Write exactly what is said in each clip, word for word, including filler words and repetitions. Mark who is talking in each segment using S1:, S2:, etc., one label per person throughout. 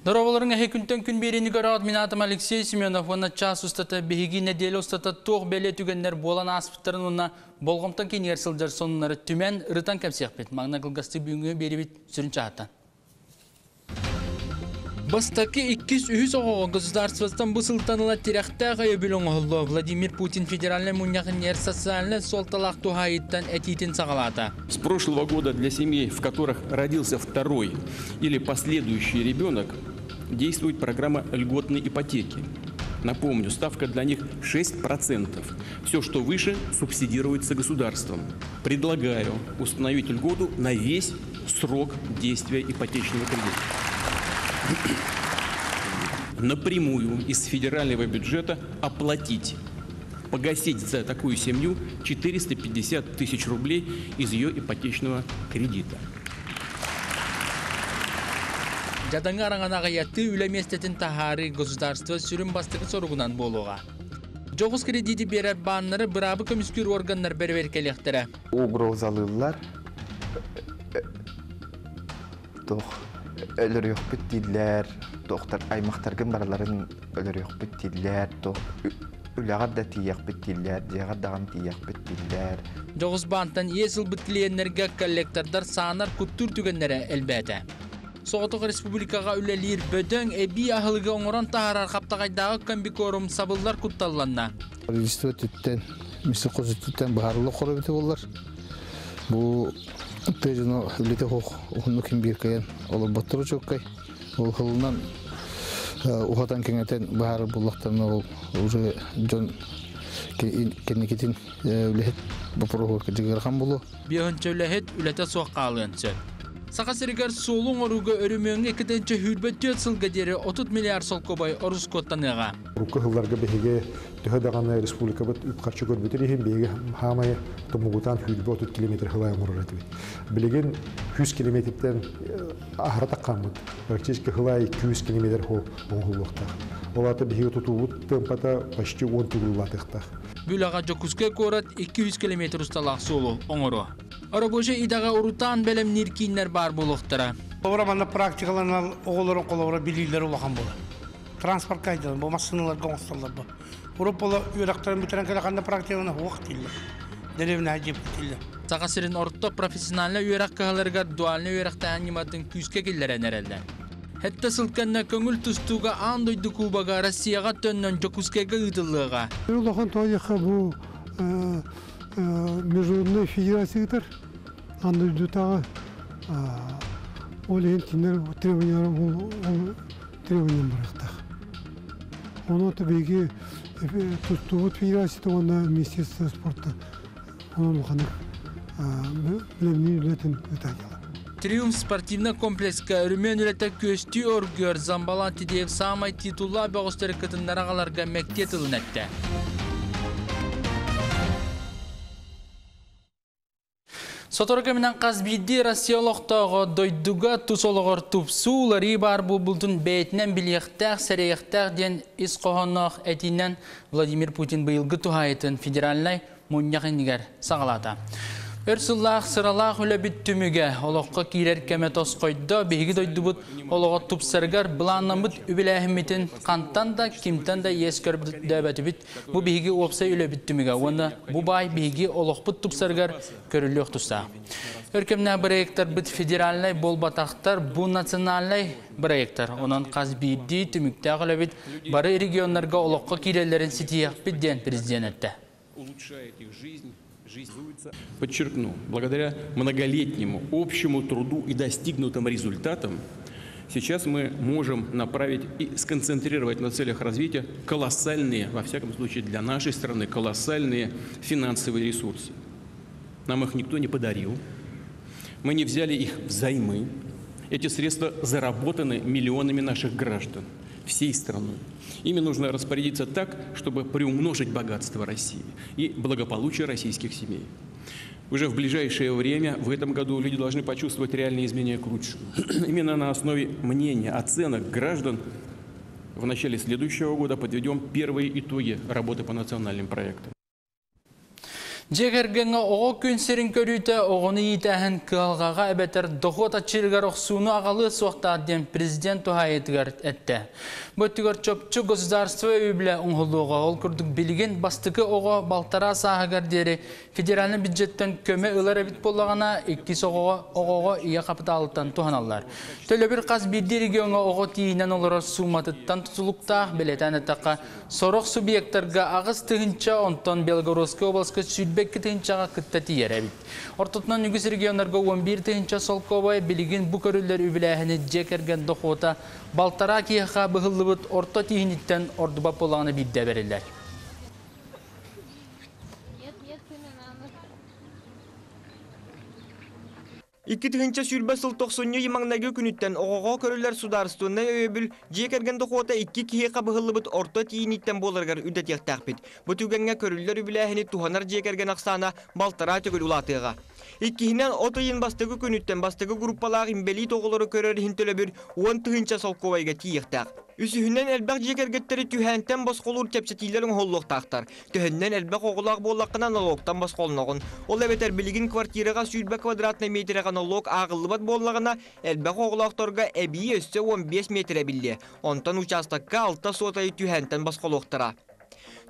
S1: Дорооболоруҥ, эһиги Күнтэн күн биэриини көрөҕүт. Мин аатым Алексей Семенов. Уонна чаас устата биһиги нэдиэлэ устата туох бэлиэ түгэннэр буолан ааспыттарын уонна болҕомто киинигэр сылдьар сонуннары түмэн ырытан кэпсиэхпит. Маҥнай кылгастык бүгүҥҥү биэриибит сүрүн чааһыттан. Бастакы, иккис, үһүс оҕоҕо государствоттан бу сылтан ыла тирэхтээх өйөбүл оҥоһуллуо. Владимир Путин федеральнай мунньах иннигэр социальнай суолталаах туһаайыыттан этиитин саҕалаата.
S2: С прошлого года для семей, в которых родился второй или последующий ребенок, действует программа льготной ипотеки. Напомню, ставка для них шесть процентов. Все, что выше, субсидируется государством. Предлагаю установить льготу на весь срок действия ипотечного кредита. Напрямую из федерального бюджета оплатить, погасить за такую семью четыреста пятьдесят тысяч рублей из ее ипотечного кредита.
S1: Дьадаҥы араҥаны аҕыйатыы, үлэ миэстэтин таһаарыы государство сүрүн бастакы соругунан буолуоҕа. Дьоҕус кредити биэрэр бааннары быраабы көмүскүүр органнар бэрэбиэркэлиэхтэрэ.
S3: Угрозалыыллар. Туох өлөрүөхпүт дииллэр, туохтар аймахтаргын барыларын өлөрүөхпүт дииллэр, туох үлэҕэр да тиийиэхпит дииллэр, дьиэҕэр даҕаны тиийиэхпит дииллэр.
S1: Дьоҕус баантан иэс ылбыт клиеннэргэ коллектордар саанар, куттуур түгэннэрэ элбээтэ. Соҕотох республикаҕа үлэлиир бөдөҥ эбии аһылыгы оҥорон таһаарар Хаптаҕайдааҕы комбикорм сабыллар кутталланна.
S4: Правительство өттүттэн, Минсельхоз өттүттэн быһаарыллар хоробити боллар. Бу тыа дьоно үлэтэ суох уһуннук ким биир кыайан олорботторо чуолкай. Ол сылынан уһатан кэҥэтэн быһаарар буоллахтарына, ол уже дьон кэнникитин үлэһит боппуруоһугар кырдьык ыарахан буолуо.
S1: Биэс үлэһит үлэтэ суох хаалыан сөп. Саха сиригэр суолу оҥорууга, өрөмүөҥҥэ икки тыһыынча сүүрбэ түөрт сылга диэри отут миллиард солкуобай ороскуоттаныаҕа.
S5: Урукку сылларга биһиги төһө даҕаны республикабыт үп-харчы көрбүтүн иһин, биһиги хаамай тумугутан сүүрбэ отут километр сылай оҥорор этибит. Билигин сүүс километртэн аһара таххаммыт. Практически сылай сүүс километр хол оҥоһуллуохтаах. Ол аата биһиги тутуубут темпата почти он төгүл улаатыахтаах.
S1: Бу үлэҕэ Дьокуускай куорат икки сүүс километр усталаах суолу оҥоруо. Рабочай идэҕэ урутаан бэлэмниир кииннэр баар буолуохтара.
S6: Холобура, манна практикаланар оҕолорун, холобура, билиилэри улахан буолар. Транспорт кайдалар, бу массыыналарга оҥостоллор бу. Урут буола үөрэхтэрин бүтэрэн кэлэханна практикалана суох дииллэр. Деревня дьип дииллэр.
S1: Саха сирин орто профессиональнай үөрэх кыһаларыгар дуальнай үөрэхтээһин ньыматын күүскэ киллэрэн эрэллэр. Сэттэ сыл кэннэ көҥүл тустууга аан дойду кубога Россияҕа төннөн Дьокуускайга ыытыллыаҕа.
S7: Улахан тоойуха бу международный федерациятар аан дойдутааҕы, ол иһин кинилэр требованиялар, ол требованиям барыахтаах. Ону биһиги тустуубут федерацията уонна Министерство спорта онон улаханнык бэлэмниир үлэтин ыытааччылар.
S1: Триумф спортивный комплекска өрөмүөн үлэтэ күөстүү оргуйар. Замбалан Тедеев саамай титуллаах бөҕөстөрү кытыннаран аҕаларга мэктиэ тылын эттэ. Сотору кэминэн хас биирдии Россия олохтооҕо дойдуга, тус олоҕор тупсуу, уларыйыы баар буолбутун бэйэтинэн билиэхтээх, сэрэйиэхтээх диэн ис хоһоонноох этиинэн Владимир Путин быйылгы туһаайыытын федеральнай мунньах иннигэр саҕалаата. Өр сыллаах сыралаах үлэбит түмүгэ олоххо киирэр кэмэ тосхойдо. Биһиги дойдубут олоҕо тупсарыгар былааннаммыт үбүлээһиммитин хантан да, кимтэн да иэс көрдөөбөтүбүт. Бу биһиги уопсай үлэбит түмүгэ. Уонна бу баай биһиги олохпут тупсарыгар көрүллүөх тустаах. Өр кэмнээх проекттарбыт федеральнай буолбатахтар, бу национальнай проекттар. Онон хас биирдии түмүктээх үлэбит бары регионнарга олоххо киирэллэрин ситиһиэхпит диэн президент эттэ.
S2: Улучшает их жизнь, жизнь. Подчеркну, благодаря многолетнему общему труду и достигнутым результатам сейчас мы можем направить и сконцентрировать на целях развития колоссальные, во всяком случае для нашей страны, колоссальные финансовые ресурсы. Нам их никто не подарил, мы не взяли их взаймы. Эти средства заработаны миллионами наших граждан, всей страной. Ими нужно распорядиться так, чтобы приумножить богатство России и благополучие российских семей. Уже в ближайшее время, в этом году, люди должны почувствовать реальные изменения к лучшему. Именно на основе мнения, оценок граждан в начале следующего года подведем первые итоги работы по национальным проектам.
S1: Жегергеңе оҕо күн сирин көрүүтэ оҕону иитээһин кыһалҕаҕа эбэтэр дохуот аччыырыгар охсууну аҕалыа суохтаах диэн президент туһаайыытыгар эттэ. Бу өттүгэр чопчу государство өйөбүлэ оҥоһуллуоҕа. Ол курдук билигин бастакы оҕо балтараа сааһыгар диэри федеральнай бюджеттан көмө ылар эбит буоллаҕына, иккис оҕоҕо оҕоҕо ийэ капиталыттан туһаналлар. Төлөбүр хас биирдии региоҥҥа оҕо тиийинэн олорор сууматыттан тутулуктаах, бэлиэтээн эттэххэ, сорох субъектарга аҕыс тыһыынча, онтон Белгородскай областка сүүрбэ икки тыһыынчаҕа кытта тиийэр эбит. Ортотунан үгүс регионнарга уон биир тыһыынча солкуобай. Билигин бу көрүллэр үбүлээһини дьиэ кэргэн дохуота балтараа киһиэхэ быһыллыбыт орто тииһиниттэн ордубат буоллаҕына биирдэ бэриллэр.
S8: Икки тыһыынча сүүрбэ сыл тохсунньу маҥнайгы күнүттэн оҕоҕо көрүллэр судаарыстыбаннай өйөбүл дьиэ кэргэн дохуота икки киһиэхэ быһыллыбыт орто тиийиниттэн буоларыгар үрдэтиэхтээхпит. Бу түгэҥҥэ көрүллэр үбүлээһини туһанар дьиэ кэргэн ахсаана балтараа төгүл улаатыаҕа. Иккиһинэн, от ыйын бастакы күнүттэн бастакы группалаах инбэлиит оҕолору көрөр иһин төлөбүр уон тыһыынча солкуобайга тиийиэхтээх. Үсүһүнэн, элбэх дьиэ кэргэттэри түһээнтэн босхолуур чэпчэтиилэр оҥоһуллуохтаахтар. Төһөннөн элбэх оҕолоох буоллаххына налогтан босхолноҕун. Ол эбэтэр билигин квартираҕа сүүрбэ квадратнай метрэҕэ налог ааҕыллыбат буоллаҕына, элбэх оҕолоохторго эбии өссө уон биэс метр эбиллиэ. Онтон участокка алта суотайы түһээнтэн босхолуохтара.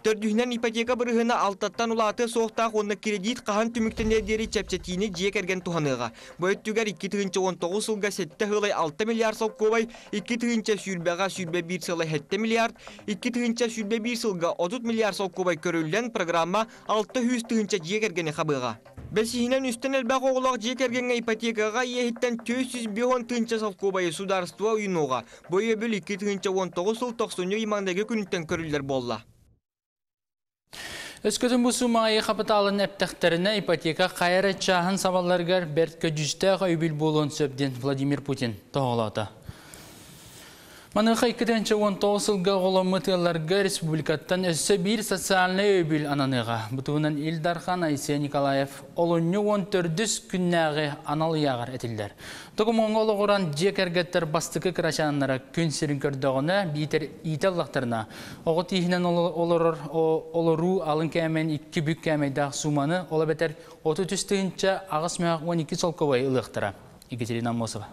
S8: Төрдүһүнэн, ипотека бырыһына алтаттан улаатыа суохтаах уонна кредит хаһан түмүктэнэр диэри чэпчэтиини дьиэ кэргэн туһаныаҕа. Бу өттүгэр икки тыһыынча уон тоҕус сылга сэттэ сылай алта миллиард солкуобай, икки тыһыынча сүүрбэҕэ сүүрбэ биир сылай сэттэ миллиард, икки тыһыынча сүүрбэ биир сылга отут миллиард солкуобай көрүллэн программа алта сүүс тыһыынча дьиэ кэргэни хабыаҕа. Бэсиһинэн, үстэн элбэх оҕолоох дьиэ кэргэҥҥэ ипотекаҕа иэһиттэн түөрт сүүс биэс уон тыһыынча солкуобайы судаарыстыба уйунуоҕа. Бу өйөбүл икки тыһыынча уон тоҕус сыл тохсунньу маҥнайгы күнүттэн көрүллэр буолла.
S1: Өскөтүн бу суумаҕа капиталын эптэхтэринэ ипотека хайар чааһын сабалларыгар бэрт көдьүүстээх өйөбүл буолуон сөп диэн Владимир Путин тоһоҕолоото. Маныаха икки тыһыынча уон тоҕус сылга оҕоломмут ыалларга республикаттан өссө биир социальнай өйөбүл ананыаҕа. Бу туһунан Ил Дархан Айсен Николаев олунньу уон төрдүс күннээҕи анал ыйааҕар этиллэр. Докумуоҥҥа олоҕуран дьиэ кэргэттэр бастакы кырачааннара күн сирин көрдөҕүнэ биитэр иитэ ыллахтарына оҕо тииһинэн олорор олоруу алын кээмэйин икки бүк кээмэйдээх сууманы, ол эбэтэр отут үс тыһыынча аҕыс мөһөх уон икки солкуобай ылыахтара. Екатерина Аммосова.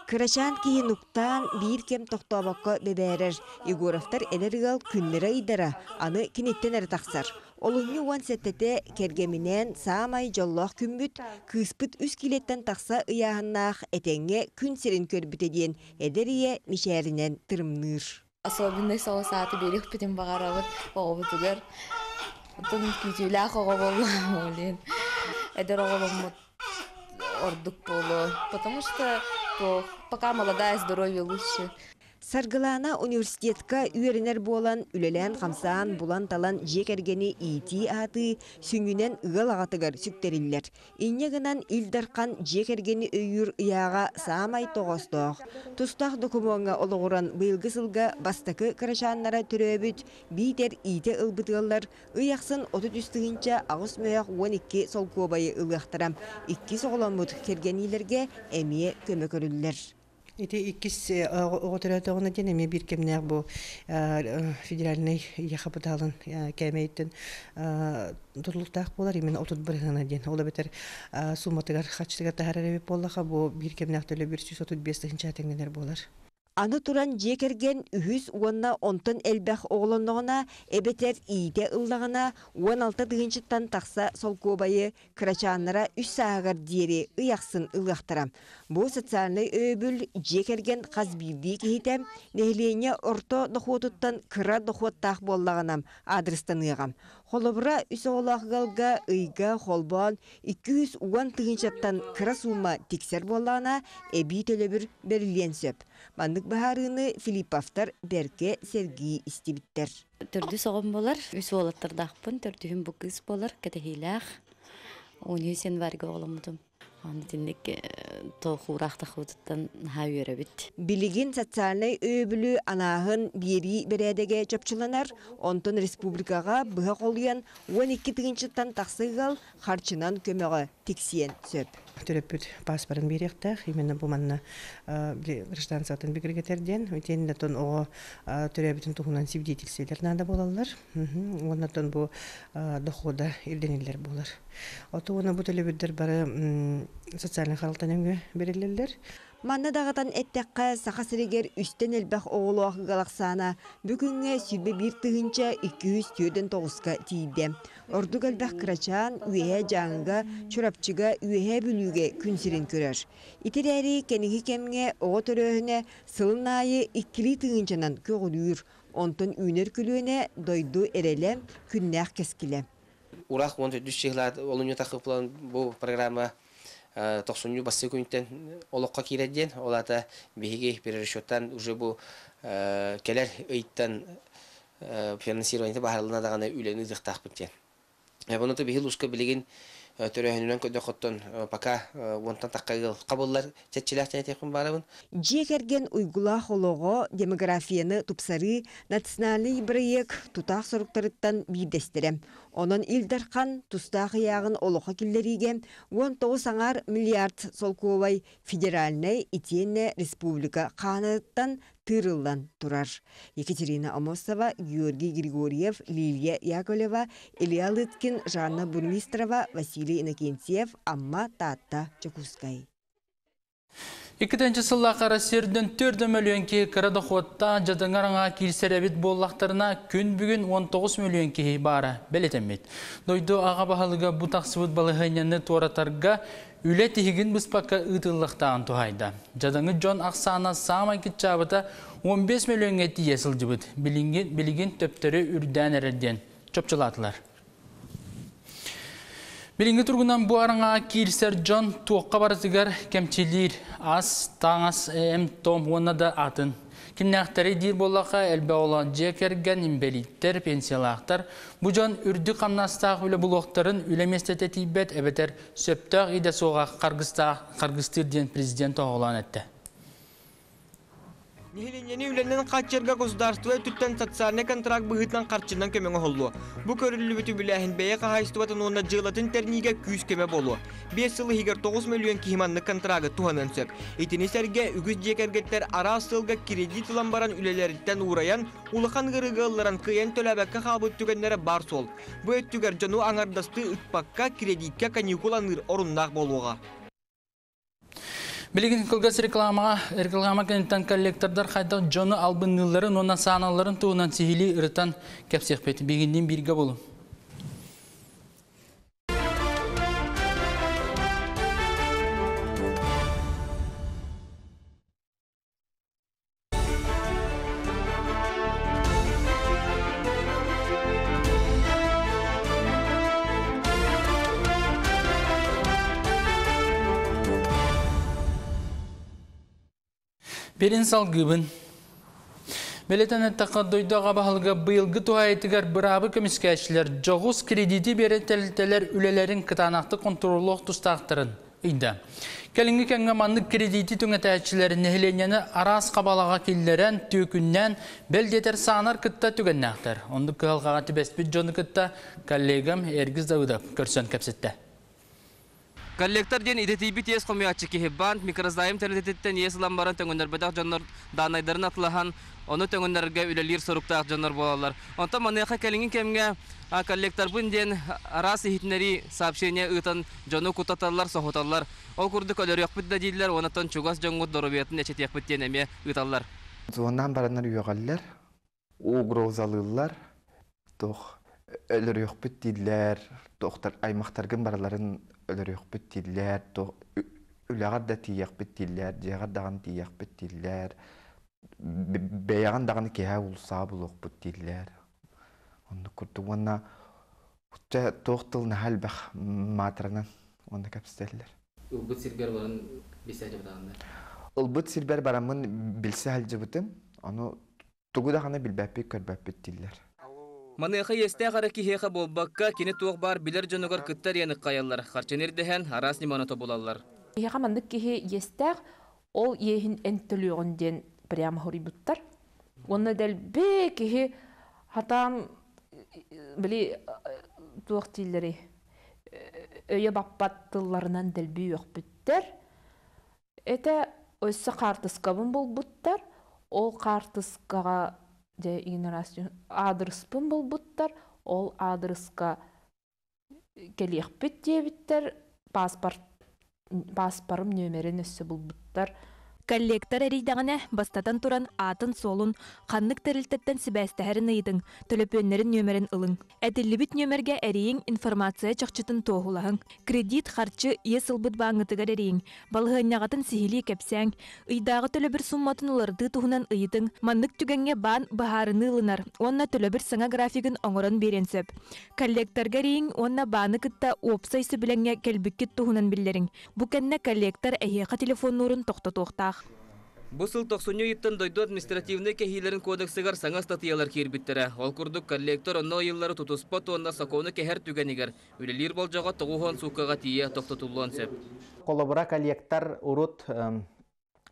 S9: Кырачаан киһи нуктаан биир кэм тохтообокко бэбээрэр. Егоровтар эдэр ыал күннэрэ ыйдара, аны киниттэн эрэ тахсар. Олунньу уон сэттэтэ кэргэминээн саамай дьоллоох күммүт, кыыспыт үс килиэттэн тахса ыйааһыннаах этэҥҥэ күн сирин көрбүтэ диэн эдэр ийэ мичээринэн тырымныыр.
S10: Особенный соҕус ааты биэриэхпитин баҕарабыт оҕобутугар. Оттон күүтүүлээх оҕо буолла, блин. Эдэр оҕоломмут ордук буолуо. Потому что пока молодая, здоровье лучше.
S9: Саргылана университетка үөрэнэр буолан, үлэлээн хамсаан, булан-талан дьиэ кэргэни иитии аатыы сүнньүнэн ыал аҕатыгар сүктэриллэр. Инньэ гынан Ил Дархан дьиэ кэргэни өйүүр ыйааҕа саамай тоҕоостоох. Тустаах докумуоҥҥа олоҕуран быйылгы сылга бастакы кырачааннара төрөөбүт, биитэр иитэ ылбыт ыаллар ый ахсын отут үс тыһыынча аҕыс мөһөх уон икки солкуобайы ылыахтара. Иккис оҕоломмут кэргэниилэргэ эмиэ көмө көрүллэр.
S11: Ити иккис оҕо төрөөтөҕүнэ диэн эмиэ биир кэмнээх бу федеральнай ийэ хапытаалын кээмэйиттэн тутулуктаах буолар, именно отут бырыһыана диэн. Ол эбэтэр сууматыгар хаччытыгар таһаарар эбит буоллаха, бу биир кэмнээх төлөбүр сүүс отут биэс тыһыынча тэҥнэнэр буолар.
S9: Аны туран дьиэ кэргэн үһүс уонна онтон элбэх оҕолонноҕуна, эбэтэр иитэ ыллаҕына уон алта тыһыынчаттан тахса солкуобайы кырачааннара үс сааһыгар диэри ый ахсын ылыахтара. Бу социальнай өйөбүл дьиэ кэргэн хас биирдии киһитэ нэһилиэнньэ орто дохуотуттан кыра дохуоттаах буоллаҕына аадырыстаныаҕа. Холобура үс оҕолоох ыалга ыйга холбоон икки жүз уон тыһыынчаттан кыра суума тиксэр буоллаҕына эбии төлөбүр бэриллиэн сөп. Маннык баһаарыыны Филипповтар бэркэ сэргии истибиттэр.
S12: Төрдүс оҕом болар, үс уолаттардаахпын, төрдүһүм бу кыыс болар, кэтэһиилээх. Он үс январьга оҕоломмутум. Аны тинник тоохуураах тахыбытыттан наһаа үөрэбит.
S9: Билигин социальнай өйөбүлү анааһын биэрии бэрээдэгэ чопчуланар, онтон республикаҕа быһа холуйан уон икки тыһыынчаттан тахса ыал харчынан көмөҕө тиксиэн сөп.
S11: Төрөппүт паспорын биэриэхтээх, именно бу манна гражданствотын бигэргэтэр диэн, итиэннэ тон оҕо төрөөбүтүн туһунан свидетельстволар наада буолаллар. Уонна тон бу дохода ирдэниллэр буолар. Ото уонна бу төлөбүрдэр бары социальнай харалтан өҥө берилэллэр.
S9: Манна даҕатан эттэххэ, Саха сиригэр үстэн элбэх оҕолоох ыал ахсаана бүгүҥҥэ сүүрбэ биир тыһыынча икки сүүс түөртэн тоҕуска тиийдэ. Ордук элбэх кырачаан Үөһээ Дьааҥыга, Чурапчыга, Үөһээ Бүлүүгэ күн сирин көрөр. Итирээри кэниги кэмҥэ оҕо төрөөһүнэ сылын аайы иккилии тыһыынчанан көҕүлүүр. Онтон үүнэр күлүөнэ дойду эрэлэ, күннээх кэскилэ.
S13: Урах он үс чыһылаат олунньу тахыплан бу программа тохсунньу бассы күнтэн олоххо киирэр диэн, ол аата биһиги перерасчеттан уже бу кэлэр ыйттан финансирование баһарылына даҕаны үлэни ыытыахтаахпыт диэн. Бұны биһи луска билигин төрөһүнүнэн көдөхөттөн пока уонтан тахха ыал қабыллар чэтчилээх тэнэтиэхпин баарабын.
S9: Дьиэ кэргэн уйгулаах олоҕо, демографияны тупсарыы национальный проект тутаах соруктарыттан биирдэстэрэ. Онон Ил Дархан тустаах ыйааҕын олоххо киллэриигэ уон тоҕус аҥаар миллиард солкуобай федеральнай итиэннэ республика хааныттан тыырыллан турар. Екатерина Амосова, Георгий Григорьев, Лилия Яковлева, Илья Лыткин, Жанна Бурмистрова, Василий Иннокентьев, Амма, Таатта, Дьокуускай.
S1: Иккитинчи сыллаахха Россиядын төрт миллион киһи кыра дохуотта дьадаңар киирсэр эбит буоллахтарына күн бүгүн он тоҕус миллион киһи баара бэлэтэммит. Дойду аҕа баһылыга бу тахсыбыт балаһыанньаны туоратарга үлэ тиһигин быспакка ыытыллыахтааҕын туһаайда. Дьадаңы дьон ахсаана саамай кытчаабыта он бес миллионга тиийэ сылдьыбыт. Билигин, билигин төптөрү үрдээн эрэр диэн чопчулаатылар. Билиҥҥи тургунан бу араҥаҕа киирсэр дьон туохха барытыгар кэмчилиир ас, таҥас, эм, том уонна да атын. Кимнээхтэри диир буоллахха элбэх оҕолоох дьиэ кэргэн, инбэлииттэр, пенсиялаахтар. Бу дьон үрдүк хамнастаах үлэ булуохтарын үлэ миэстэтэ тиийбэт эбэтэр сөптөөх идэ суоҕа харгыстаах харгыстыыр диэн президент оҕолоон этте.
S8: Нэһилиэнньэни үлэнэн хааччыйарга государство өттүттэн социальнай контракт быһыытынан харчынан көмөҥө оһоллуо. Бу көрүллүбүтү билээһин бэйэ хаһаайыстыбатын уонна дьыалатын тэрниигэ күүс көмө буолуо. Биэс сыл иһигэр тоҕус миллион киһи маннык контрагы туһаныан сөп. Итини сэргэ үгүс дьиэ кэргэттэр араас сылга кредит ылан баран үлэлэриттэн уурайан, улахан ыарыыга ылларан кыайан төлөөбөккө хаалбыт түгэннэрэ бар суол. Бу өттүгэр дьону аҥардасты ыкпакка кредиккэ каникул аныыр оруннаах буолуоҕа.
S1: Билигин кылгас рекламаҕа, реклама кэнниттэн коллектордар хайдах дьону албынныылларын уонна сааналларын туһунан сиһилии ырытан кэпсиэхпит. Билигинниин бииргэ буолуҥ. Берин салгыбын. Белетен эттаққа дойду аға баһылыга быйылгы туһаайытыгар быраабы көмүскээччилэр дьоҕус кредити биэрэн тэрилтэлэр үлэлэрин кытаанақты контроллуох тустаахтарын ыйда. Кэлиҥҥи кэмҥэ маннык кредити түҥэтээччилэр нэһилиэнньэни араас хабалаҕа киллэрэн, түөкүннээн, бэл диэтэр саанар кытта түгэннээхтэр. Оннук кыһалҕаҕа түбэспит дьону кытта коллегам Эргиз Давыдов көрсөн кэпсэтте.
S14: Коллектор диэн идэтийбит иэс хомуйааччы киһи банк микрозайм тэрилтэтиттэн иэс ылан баран төҥөннөрбөтөх дьоннор даанайдарын атылаһан, ону төҥөннөргө үлэлиир соруктаах дьоннор буолаллар. Онтон маныаха кэлиҥҥи кэмҥэ коллекторбын диэн араас иһитиннэрии сообщение ыытан дьону кутаталлар, соһуталлар. Ол курдук өлөрүөхпүт да дииллэр, онтон чугас дьоҥҥут доруобуйатын эчэтиэхпит диэн эмиэ ыыталлар.
S3: Зоннан бараннар үөҕэллэр, угрозалыыллар, туох өлөрүөхпүт дииллэр, туохтар аймахтаргын бараларын өлөрүөхпүт дииллэр, туох үлэҕэр да тиийиэхпит дииллэр, дьиэҕэр даҕаны тиийиэхпит дииллэр, бэйэҕин даҕаны киһи уулусаҕа булуохпут дииллэр. Оннук курдук уонна туох тыл наһаа элбэх маатыранан уонна кэпсэтэллэр.
S14: Ылбыт сиргэр баран билсэ сылдьыбытаҕыннар?
S3: Ылбыт сирбэр бараммын билсэ сылдьыбытым, ону тугу даҕаны билбэппит, көрбөппүт дииллэр.
S14: Маныаха иэстээх эрэ киһиэхэ буолбакка, кини туох баар билэр дьонугар кыттар иэни хайаллар, харчыны ирдэһэн араас ньыманы тобулаллар.
S15: Киһиэхэ маннык киһи иэстээх, ол иэһин эн төлүөҕүн диэн прямо хоруйбуттар. Уонна дэлби киһи хатаан били туох дииллэрий, Өйө баппат тылларынан дэлби үөхпүттэр. Это өссө хаартыскабын булбуттар. Ол хаартыскаҕа дьэ аадырыспын булбуттар. Ол аадырыска кэлиэхпит диэбиттэр. Паспорт паспорым нөмерин өссө булбуттар.
S16: Коллектор эрийдэҕинэ бастатан туран аатын суолун, ханнык тэрилтэттэн сибээстэһэрин ыйытыҥ, төлөпүөннэрин нүөмэрин ылыҥ. Этиллибит нүөмэргэ эрийиҥ, информация чахчытын туоһулаһыҥ. Кредит, харчы, иэс ылбыт бааҥҥытыгар эрийиҥ. Балаһыанньаҕытын сиһилии кэпсээҥ. Ыйдааҕы төлөбүр сумматын уларытыы туһунан ыйытыҥ. Маннык түгэҥҥэ баан быһаарыныы ылынар уонна төлөбүр саҥа графигын оҥорон биэриэн сөп. Коллекторга эрийиҥ уонна бааны кытта уопсай сөбүлэҥҥэ кэлбиккит туһунан биллэриҥ. Бу кэннэ коллектор эһиэхэ телефоннуурун тохтотуохтаах.
S14: Бу сыл тохсунньу ыйыттан дойду административнай кэһиилэрин кодексыгар саҥа ыстатыйалар киирбиттэрэ. Ол курдук коллектор онно ыйыллары тутуспат уонна сокуону кэһэр түгэнигэр үлэлиир болдьоҕо тоҕус уон сууккаҕа тиийэ тохтотуллуон сөп.
S17: Холобура коллектор урут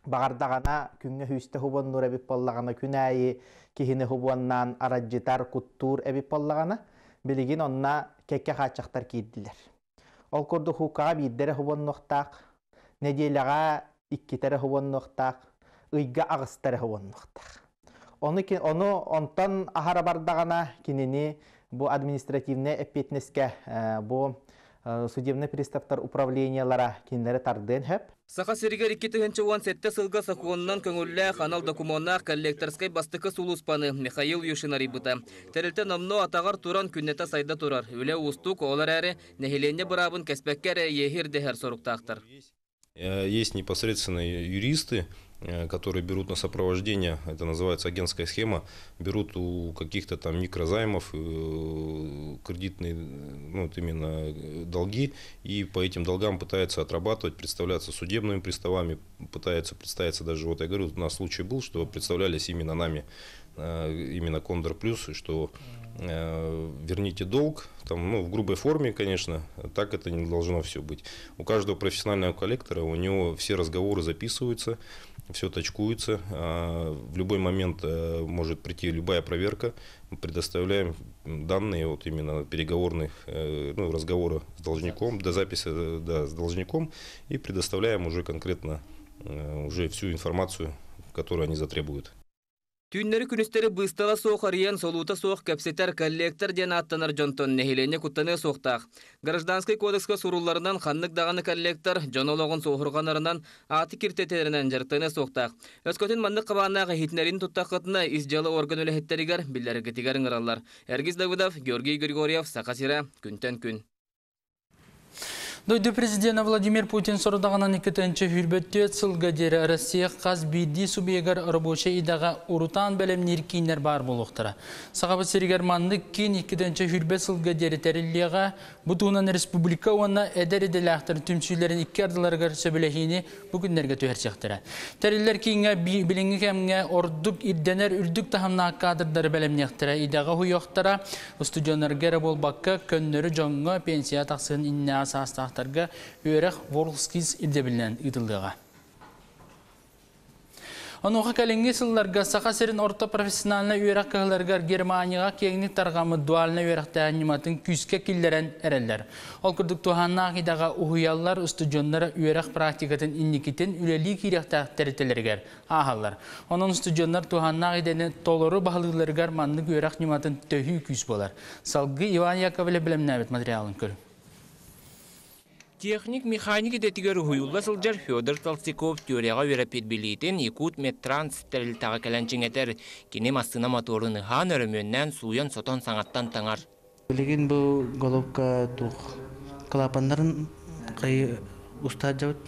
S17: баҕардаҕына күҥҥэ сүүстэ хубоннуур эбит буоллаҕына, күн аайы киһини хубуоннаан арадьытар, куттуур эбит буоллаҕына, билигин онно кэккэ хааччахтар киирдилэр. Ол курдук хуукаҕа биирдэрэ хубоннуохтаах, нэдиэлэҕэ иккитэрэ хубоннуохтаах, ыйга аҕыстара хубоннуохтаах. Ону, ону онтон аһара бардаҕына кинини бу административнай эппиэтинэскэ бу судебный приставтар управлениялара кинилэри тардыан сөп.
S14: Саха сиригэр икки тыһыынча уон сэттэ сылга сокуонунан көҥүллээх анал докумуоннаах коллекторскай бастакы сулууспаны Михаил Юшин арыйбыта. Тэрилтэ номнуо атаҕар туран күннэтэ сайда турар. Үлэ уустук, ол эрээри нэһилиэнньэ быраабын кэспэккэ эрэ иэһи ирдэһэр соруктаахтар.
S18: Есть непосредственно юристы, которые берут на сопровождение, это называется агентская схема, берут у каких-то там микрозаймов кредитные, ну, вот именно долги, и по этим долгам пытаются отрабатывать, представляться судебными приставами, пытаются представиться даже, вот я говорю, у нас случай был, что представлялись именно нами, именно Кондор Плюс, что верните долг, там, ну, в грубой форме, конечно, так это не должно все быть. У каждого профессионального коллектора, у него все разговоры записываются, все точкуется, в любой момент может прийти любая проверка, мы предоставляем данные вот именно переговорных, ну, разговора с должником, до записи, да, с должником, и предоставляем уже конкретно уже всю информацию, которую они затребуют.
S14: Түүннэри күнүстэри быыстала суох арыйан солуута суох кэпсэтэр коллектор диэн ааттанар дьонтон нэһилиэнньэ куттаныа суохтаах. Гражданскай кодекска сурулларынан ханнык даҕаны коллектор дьон олоҕун суоһурҕанарынан ааты киртитэринэн дьарыктаныа суохтаах. Өскөтүн маннык хабааннаах иһитиннэриини туттаххытына ис дьыала орган үлэһиттэригэр биллэрэргитигэр ыҥыраллар. Эргис Давыдов, Георгий Григорьев, Саха сирэ, күнтэн күн.
S1: Дойду президента Владимир Путин сорудаҕынан икки тыһыынча сүүрбэ түөрт сылга диэри Россия хас биирдии субъегар рабочай идэҕэ урутаан бэлэмниир кииннэр баар буолуохтара. Сахабыт сиригэр маннык киин икки тыһыынча сүүрбэ сылга диэри тэриллиэҕэ, бу туһунан республика уонна эдэр идэлээхтэр түмсүүлэрин икки ардыларыгар сөбүлэһиини бу күннэргэ түһэрсиэхтэрэ. Тэриллэр кииҥҥэ билиҥҥи кэмҥэ ордук ирдэнэр үрдүк таһымнаах кадрдары бэлэмниэхтэрэ, идэҕэ уһуйуохтара, студеннарга эрэ буолбакка көннөрү дьоҥҥо пенсия тахсыан иннинээҕи саастаахтар үөрэх WorldSkills ирдэбилинэн ыытыллыаҕа. Онуоха кэлиҥҥи сылларга Саха сирин орто профессиональнай үөрэх кыһаларыгар Германияҕа киэҥник тарҕаммыт дуальнай үөрэхтээһин ньыматын күүскэ киллэрэн эрэллэр. Ол курдук туһааннаах идэҕэ уһуйаллар, студеннар үөрэх практикатын инникитин үлэлии киириэхтээх тэрилтэлэригэр ааһаллар. Онон студеннар туһааннаах идэни толору баһылыыларыгар маннык үөрэх ньыматын төһүү күүс буолар. Салгыы Иван Яковлев бэлэмнээбит материалын көрүҥ.
S19: Техник механик идэтигэр уһуйулла сылдьар Федор Толстяков теорияҕа үөрэппит билиитин Якут Медтранс тэрилтэҕэ кэлэн чиҥэтэр. Кини массыына моторун ыһаан өрөмүөннээн сууйан сотон саҥаттан таҥар.
S20: Билигин бу головка туох клапаннарын кайы устаажабыт.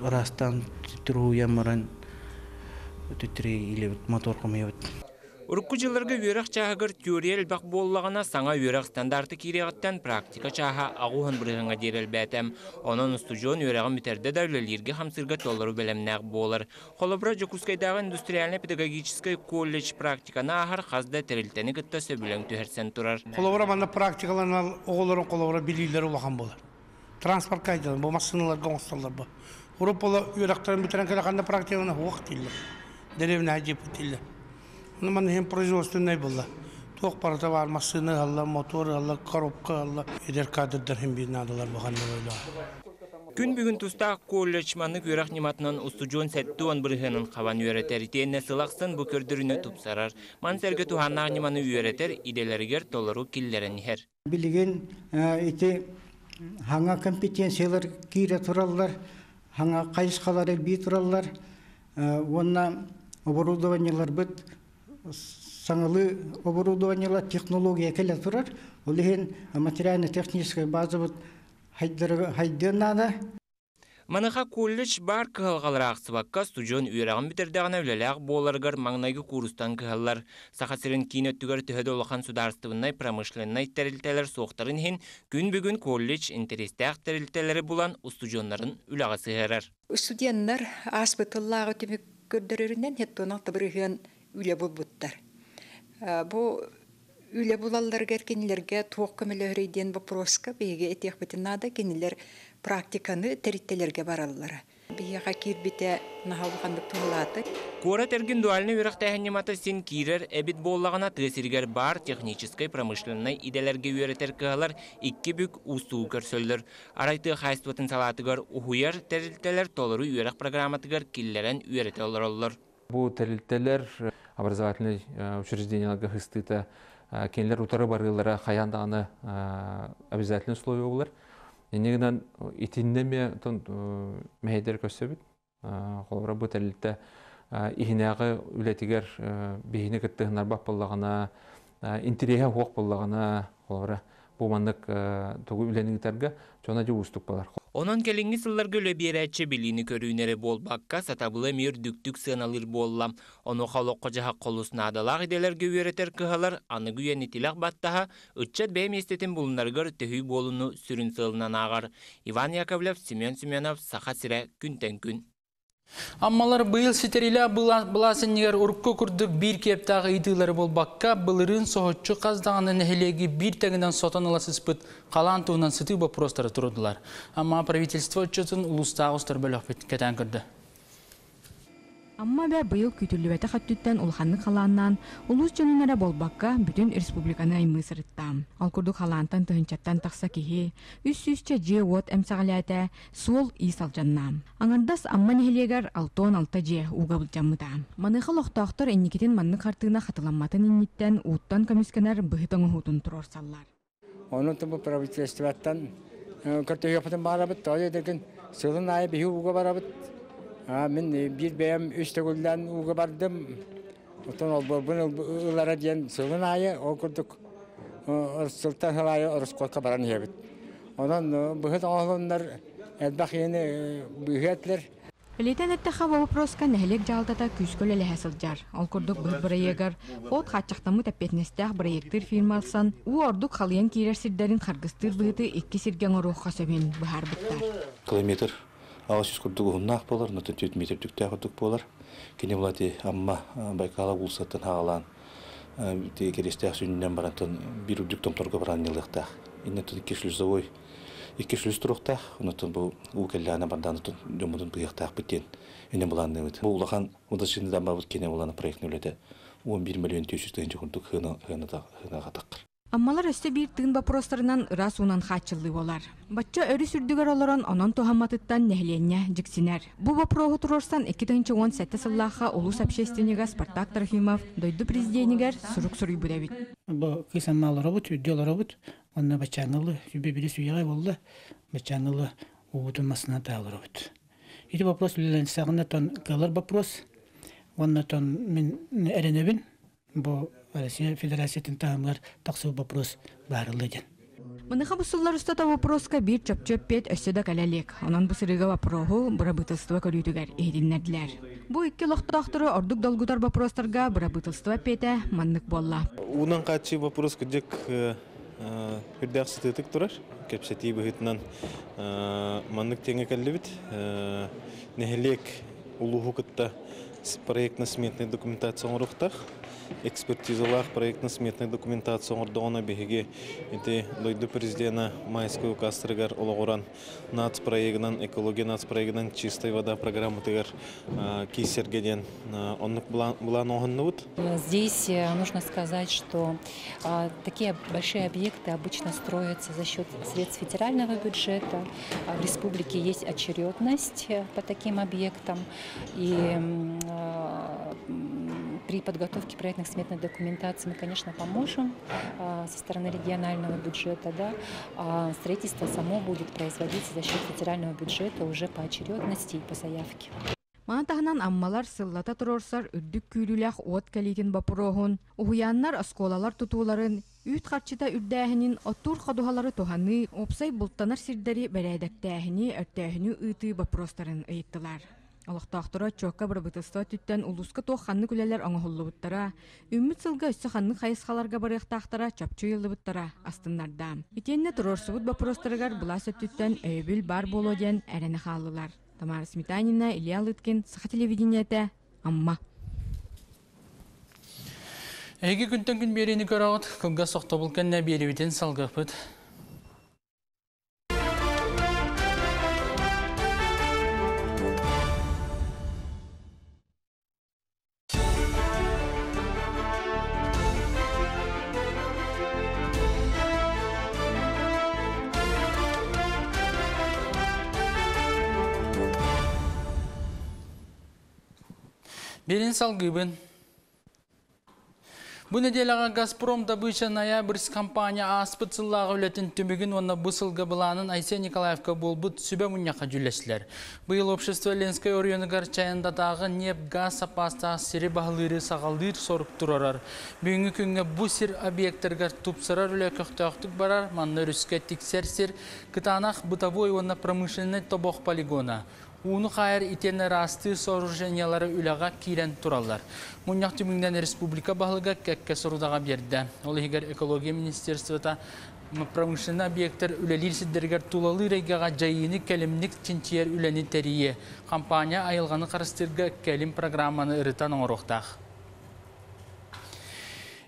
S20: Ырастан түтүрү баран түтүрү илебит мотор хомуйабыт.
S19: Урукку дьылларга үөрэх чааһыгар теория элбэх буоллаҕына саҥа үөрэх стандарты киириэҕиттэн практика чааһа аҕыс уон бырыһыаҥҥа диэри элбээтэ. Онон устудьуон үөрэҕин бүтэрдэ да үлэлииргэ хамсыырга толору бэлэмнээх буолар. Холобура Дьокуускайдааҕы индустриально-педагогическай колледж практиканы ааһар хас да тэрилтэни кытта сөбүлэҥ түһэрсэн турар.
S6: Холобура манна практикаланар оҕолорун холобура билиилэри улахан буолар. Транспортка айдалар, бу массыыналарга оҥостоллор бу. Урут үөрэхтэрин бүтэрэн кэлэ ханна практиканы хуох дииллэр. Дэриэбинэ дьиэппит дииллэр. Манна производственный была. Туох барыта баар массыына ыһаллар, мотор ыһаллар, коробка ыһаллар. Эдэр кадрдар хим биир наадалар бахан
S19: Күн бүгүн тустаах колледж маннык үөрэх ньыматынан устудьуон сэттэ уон бырыһыанын хабан үөрэтэр, итиэннэ сыл ахсын бу көрдөрүүнү тупсарар. Маны сэргэ туһааннаах ньыманы үөрэтэр идэлэригэр толору киллэрэн иһэр.
S21: Билигин ити хаҥа компетенциялар киирэ тураллар, хаҥа хайысхалар элбии тураллар, уонна оборудованиеларбыт саҥалыы оборудованиелар технология кэлэ турар. Ол иһин материально-техническай базабыт хайдыан наада.
S19: Маныаха колледж баар кыһалҕалары аахсыбакка устудьуон үөрэҕин бүтэрдэҕинэ үлэлээх буоларыгар маҥнайгы куурустан кыһаллар. Саха сирин киин өттүгэр төһө да улахан судаарыстыбаннай промышленнай тэрилтэлэр суохтарын иһин, күн бүгүн колледж интэриэстээх тэрилтэлэри булан устудьуоннарын үлэҕэ сыһыарар.
S22: Студенттар ааспыт сыллааҕы түмүк көрдөрөрүнэн сэттэ уон алта бырыһыан үлэ булбуттар. Бу үлэ булалларыгар кинилэргэ туох көмөлөһөрүй диэн вопроска биһиги этиэхпитин наада, кинилэр практиканы тэрилтэлэргэ бараллара. Биһиэхэ киирбитэ наһаа улаханнык туһалаата.
S19: Куорат эргин дуальнай үөрэхтээһин ньымата син киирэр эбит буоллаҕына, тыа сиригэр баар техническай промышленнай идэлэргэ үөрэтэр кыһалар икки бүк уустугу көрсөллөр. Арай тыа хаһаайыстыбатын салаатыгар уһуйар тэрилтэлэр толору үөрэх программатыгар киллэрэн үөрэтэ олороллор.
S23: Бу тэрилтэлэр образовательнай учрежденияларга сыстыыта кинилэр утары барыылара хайаан даҕаны обязательный условие буолар. Инньэ гынан итиннэ эмиэ мэһэйдэр көрсөбүт. Холобура, бу тэрилтэ иһинээҕи үлэтигэр биһини кыттыһыннарбат буоллаҕына, интэриэһэ суох буоллаҕына, холобура, бу маннык тугу үлэни ыытарга дьоно дьэ уустук буолар.
S19: Онон кэлиҥҥи сылларга үлэ биэрээччи билиини көрүүнү эрэ буолбакка, сатабылы эмиэ үрдүктүк сыаналыыр буолла. Онуоха олоххо-дьаһахха олус наадалаах идэлэргэ үөрэтэр кыһалар аныгы үйэни тилэх баттаһа, ыччат бэйэ миэстэтин булунарыгар төһүү буолууну сүрүн сыалынан ааҕар. Иван Яковлев, Семен Семенов, Саха сирэ, күнтэн күн.
S1: Аммалар быйыл ситэриилээх былаас иннигэр урукку курдук биир киэптээх ыйытыылары буолбакка, былырыын соһуччу хас даҕаны нэһилиэги биир тэҥинэн сотон ыла сыспыт халаан туһунан сытыы боппуруостары туруордулар. Амма правительство отчетун улуустааҕы устар бөлөхпүт кэтээн көрдө.
S24: Амма эбэ быйыл күүтүллүбэтэх өттүттэн улаханнык халааннаан, улуус дьонун эрэ буолбакка, бүтүн республиканы аймыы сырытта. Ол курдук халаантан тыһыынчаттан тахса киһи, үс сүүсчэ дьиэ-уот эмсэҕэлээтэ, суол-иис алдьанна. Аҥардас Амма нэһилиэгэр алта уон алта дьиэ ууга былдьаммыта. Маныаха олохтоохтор инникитин маннык хартыына хатыламматын инниттэн ууттан көмүскэнэр быһыт оҥоһуутун туруорсаллар.
S25: Онон бу правительствоттан көрдөһүөхпүтүн баҕарабыт, тоҕо диэтэргин сылын аайы биһи ууга барабыт. Мин биир бэйэм үс төгүллээн ууга бардым. Оттон олбуорбун ылара диэн сылын аайы ол курдук сылтан сыл аайы ороскуотка баран иһэбит. Онон быһыт оҥоһулуннар элбэх иһини быыһыа этилэр.
S24: Бэлиэтээн эттэххэ, бу вопроска нэһилиэк дьаһалтата күүскэ үлэлэһэ сылдьар. Ол курдук быһыт бырайыагар ХОТ хааччахтаммыт эппиэтинэстээх бырайыактыыр фирма ылсан, уу ордук халыйан киирэр сирдэрин харгыстыыр быһыты икки сиргэ оҥоруохха сөбүн быһаарбыттар.
S26: Километр аҕыс жүз курдук уһуннаах буолар, онтон түөрт метр үрдүктээх курдук буолар. Кини булати Амма Байкала уулуссаттан саҕалаан Кириэстээх сүнньүнэн барантан биир үрдүк томторго баран ньылыахтаах. Иннеттен икки шлюзовой икки шлюз туруохтаах, онтон бу уу кэллэҕинэ бардаан дьоммутун быыһыахтаахпыт диэн иннин былаанныыбыт. Бу улахан удачный дамбабыт киэнэ булана проектный үлэтэ он биир миллион төрт жүз тыһыынча курдук сыанаҕа таххар.
S24: Аммалар өссө биир тыын боппуруостарынан ыраас уунан хааччыллыы буолар. Бачча өрүс үрдүгэр олорон онон туһамматыттан нэһилиэнньэ дьиксинэр. Бу боппуруоһу туруорсан икки тыһыынча уон сэттэ сыллаахха улуус общественнига Спартак Трофимов дойду президенигэр сурук суруйбут эбит.
S27: Бу кыыс Амма олоробут, үрдү олоробут, онно баччааҥҥылы сүбэ бири сүүйэҕэ буолла, баччааҥҥылы уубутун массыына олоробут. Ити вопрос үлэлэнсэҕинэ тон кыалар вопрос, уонна тон мин эрэнэбин, бу Россия Федерациятын таһымыгар тахсыбыт вопрос баарылла диэн.
S24: Маныаха бу сыллар устата вопроска биир чопчу эппиэт өссө да кэлэ илик. Онон бу сырыыга вопроһу бырабыыталыстыба көрүүтүгэр иһитиннэрдилэр. Бу икки олохтоохтору ордук долгутар вопростарга бырабыыталыстыба эппиэтэ маннык буолла.
S28: Уунан хааччыы вопрос кырдьык үрдээх сытыытык турар. Кэпсэтии быһыытынан маннык тэҥҥэ кэллибит. Нэһилиэк улууһу кытта проектно-сметная документация оҥоруохтаах. Экспертизалаах проектно-сметная документация оҥордоҕуна биһиги ити дойду президена майскай указтарыгар олоҕуран нацпроегынан, экология нацпроегынан «Чистая вода» программатыгар киирсэргэ диэн оннук былаан оҥоһуннубут.
S2: Здесь нужно сказать, что такие большие объекты обычно строятся за счет средств федерального бюджета. В республике есть очередность по таким объектам. И при подготовке проектно-сметной документации мы, конечно, поможем со стороны регионального бюджета, да, а строительство само будет производиться за счет федерального бюджета уже по очередности и по заявке.
S24: Маны таһынан аммалар сыллата туруорсар үрдүк күүрүүлээх уот кэлиитин боппуруоһун, уһуйааннар, оскуолалар тутууларын, үүт харчыта үрдээһинин, оттуур ходуһалары туһаныы, уопсай бултанар сирдэри бэрээдэктээһини, өртөөһүнү ыытыы боппуруостарын ыйыттылар. Олохтоохторо отчуокка бырабыыталыстыба өттүттэн улууска туох ханнык үлэлэр оҥоһуллубуттара, үүммүт сылга өссө ханнык хайысхаларга барыахтаахтара чопчу ыйыллыбыттара астыннарда. Итиэннэ туруорсубут боппуруостарыгар былаас өттүттэн өйөбүл баар буолуо диэн эрэнэ хааллылар. Тамара Сметанина, Илья Лыткин, Саха телевидениетэ, Амма.
S1: Эһиги күнтэн күн биэриини көрөҕүт, кылгас тохтобул кэннэ биэриибитин салгыахпыт. Биэриини салгыыбын. Бу нэдиэлэҕэ «Газпром добыча Ноябрьск» компания ааспыт сыллааҕы үлэтин түмүгүн уонна бу сылга былаанын Айсен Николаевка буолбут сүбэ мунньахха дьүүллэстилэр. Быйыл общество Ленскэй оройуонугар Чайандатааҕы ньиэп-гаас саппаастаах сири баһылыыры саҕалыыр сорук туруорар. Бүгүҥҥү күҥҥэ бу сир объектарыгар тупсарар үлэ көхтөөхтүк барар, манна өрүскэ тиксэр сир, кытаанах бытовой уонна промышленнай тобох полигона, ууну хаайар итиэннэ ыраастыыр сооружениелары үлэҕэ киирэн тураллар. Мунньах түмүгүнэн республика баһылыга кэккэ сорудаҕы биэрдэ. Ол иһигэр экология министерствота промышленнай объектар үлэлиир сирдэригэр тулалыыр эйгэҕэ дьайыыны кэлимник чинчийэр үлэни тэрийиэ. Компания айылҕаны харыстыырга кэлим программаны ырытан оҥоруохтаах.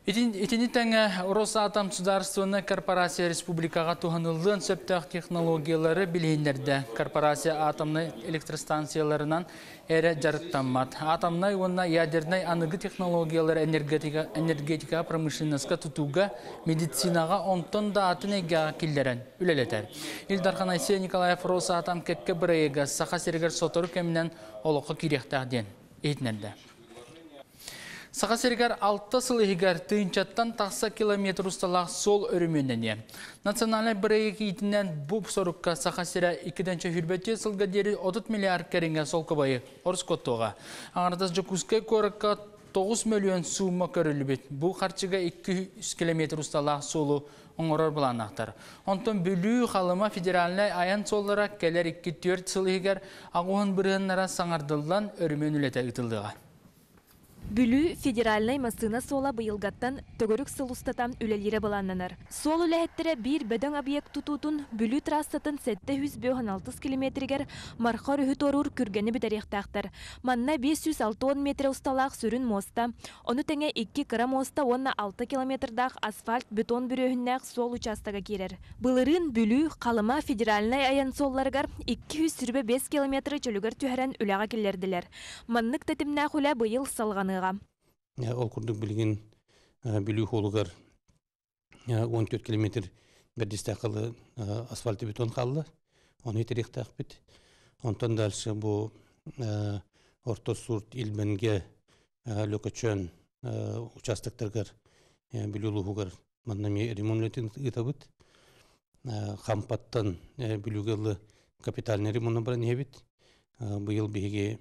S1: Итини тэҥэ Росатом судаарыстыбаннай корпорация республикаҕа туһаныллыан сөптөөх технологиялары билиһиннэрдэ. Корпорация атомнай электростанцияларынан эрэ дьарыктаммат. Атомнай уонна ядернай аныгы технологиялары энергетика, энергетика промышленноска, тутууга, медицинаҕа, онтон да атын эйгэҕэ киллэрэн үлэлэтэр. Ил Дархан Айсен Николаев Росатом кэккэ бырайыага Саха сиригэр сотору кэминэн олоххо киириэхтээх диэн иһитиннэрдэ. Саха сиригэр алта сыл иһигэр тыһыынчаттан тахса километр усталаах суол өрөмүөннэниэ. Национальнай бырайыак иитинэн бу сорукка Саха сирэ икки тыһыынча сүүрбэ түөрт сылга диэри отут миллиард кэриҥэ солкуобайы ороскуоттуоҕа. Аҥаардас Дьокуускай куоракка тоҕус мөлүйүөн суумма көрүллүбүт. Бу харчыга икки жүз километр усталаах суолу оҥорор былааннаахтар. Онтон Бүлүү, Халыма федеральнай айан суоллара кэлэр икки түөрт сыл иһигэр аҕыс уон бырыһыаннара саҥардыллан өрөмүөн үлэтэ ыытыллыаҕа.
S16: Бүлүү федеральнай массыына суола быйылгаттан төгүрүк сыл устата үлэлиирэ былааннанар. Суол үлэһиттэрэ биир бөдөҥ объект тутуутун Бүлүү трассатын сэттэ сүүс биэс уон алта километригэр Марха өрүһү туоруур күргэни бүтэриэхтээхтэр. Манна биэс сүүс алта уон метр усталаах сүрүн муоста, ону тэҥэ икки кыра муоста уонна алта километрдаах асфальт бетон бүрүөһүннээх суол учаастага киирэр. Былырыын Бүлүү, Халыма федеральнай айан суолларыгар икки сүүс сүүрбэ биэс километры чөлүгэр түһэрэн үлэҕэ киллэрдилэр. Маннык тэтимнээх үлэ быйыл салҕаныаҕа.
S4: Ол курдук билигин Бүлүү суолугар он төрт километр бэрдистээххалы асфальт бетон хаалла. Ону ситэриэхтээхпит. Онтон дальше бу Орто Сурт, Ильменьгэ, Лөкөчөөн участоктарыгар Бүлүү улууһугар манна ремонт ыытабыт. Хампаттан Бүлүүгэ капитальный ремонт баран иһэбит. Быйыл биһиги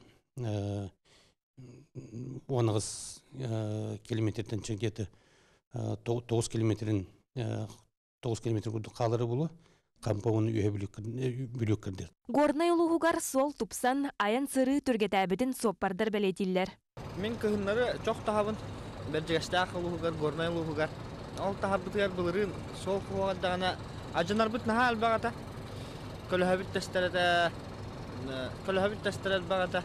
S4: он аҕыс километртэн где-то тоҕус километрин тоҕус километр курдук хаалара буолуо. Хампа уонна Үөһээ Бүлүү икки ардыгар.
S16: Горнай улууһугар суол тупсан, айан сырыы түргэтээбитин суоппардар бэлиэтииллэр.
S5: Мин кыһыннары чох таһабын Бэрдьигэстээх улууһугар, Горнай улууһугар. Ол таһарбытыгар былырыын суол куһаҕандаҕына алдьанарбыт наһаа элбэх этэ. Көлөһөбүт тэстэр этэ, көлөһөбүт тэстэр элбэх этэ.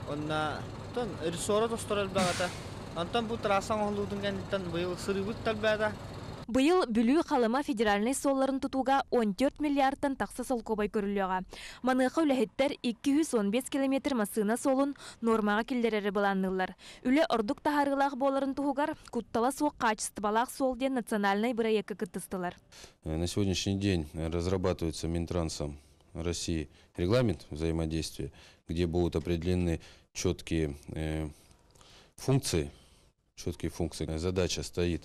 S5: Онно Оттон рессора тостор элбэҕэ. Онтон бу трасса оҥоһуллуутун кэнниттэн быйыл сырыыбыт элбээтэ.
S16: Быйыл Бүлүү Халыма федеральнай суолларын тутууга он төрт миллиардтан тахса солкуобай көрүллүөҕэ. Маныаха үлэһиттэр икки сүүс он биэс километр массыына суолун нуормаҕа киллэрэри былаанныыллар. Үлэ ордук таһаарыылаах буоларын туһугар куттала суох хаачыстыбалаах суол диэн национальнай бырайыакка кыттыстылар.
S3: На сегодняшний день разрабатывается Минтрансом России регламент взаимодействия, где будут определены четкие, э, функции, четкие функции. Задача стоит,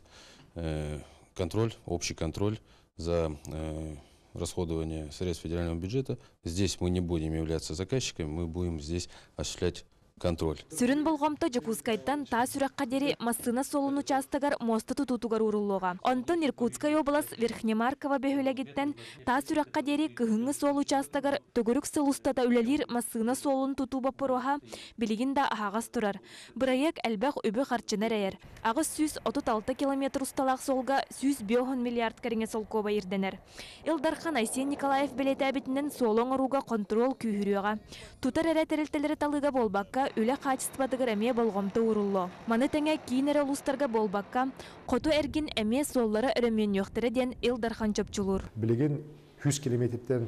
S3: э, контроль, общий контроль за, э, расходование средств федерального бюджета. Здесь мы не будем являться заказчиками, мы будем здесь осуществлять контроль.
S16: Сүрүн болҕомто Дьокуускайтан Таас Үрэххэ диэри массыына суолун учаастагар муоста тутуутугар ууруллуоҕа. Онтон Иркутскай область Верхнемаркова бөһүөлэгиттэн Таас Үрэххэ диэри кыһыҥҥы суол учаастагар төгүрүк сыл устата үлэлиир массыына суолун тутуу боппуруоһа билигин да аһаҕас турар. Бырайыак элбэх үбү харчыны эрэйэр. Аҕыс сүүс отут алта километр усталаах суолга сүүс биэс уон миллиард кэриҥэ солкуоба ирдэнэр. Ил Дархан Айсен Николаев бэлиэтээбитинэн суолу оҥорууга контрол күүһүрүөҕэ. Тутар эрэ тэрилтэлэри талыыга буолбакка, үлэ хаачыстыбатыгар эмиэ болҕомто ууруллуо. Маны тэҥэ киин эрэ улуустарга буолбакка, хоту эргин эмиэ суоллара өрөмүөннүөхтэрэ диэн Ил Дархан чопчулуур.
S7: Билигин сүүс километртэн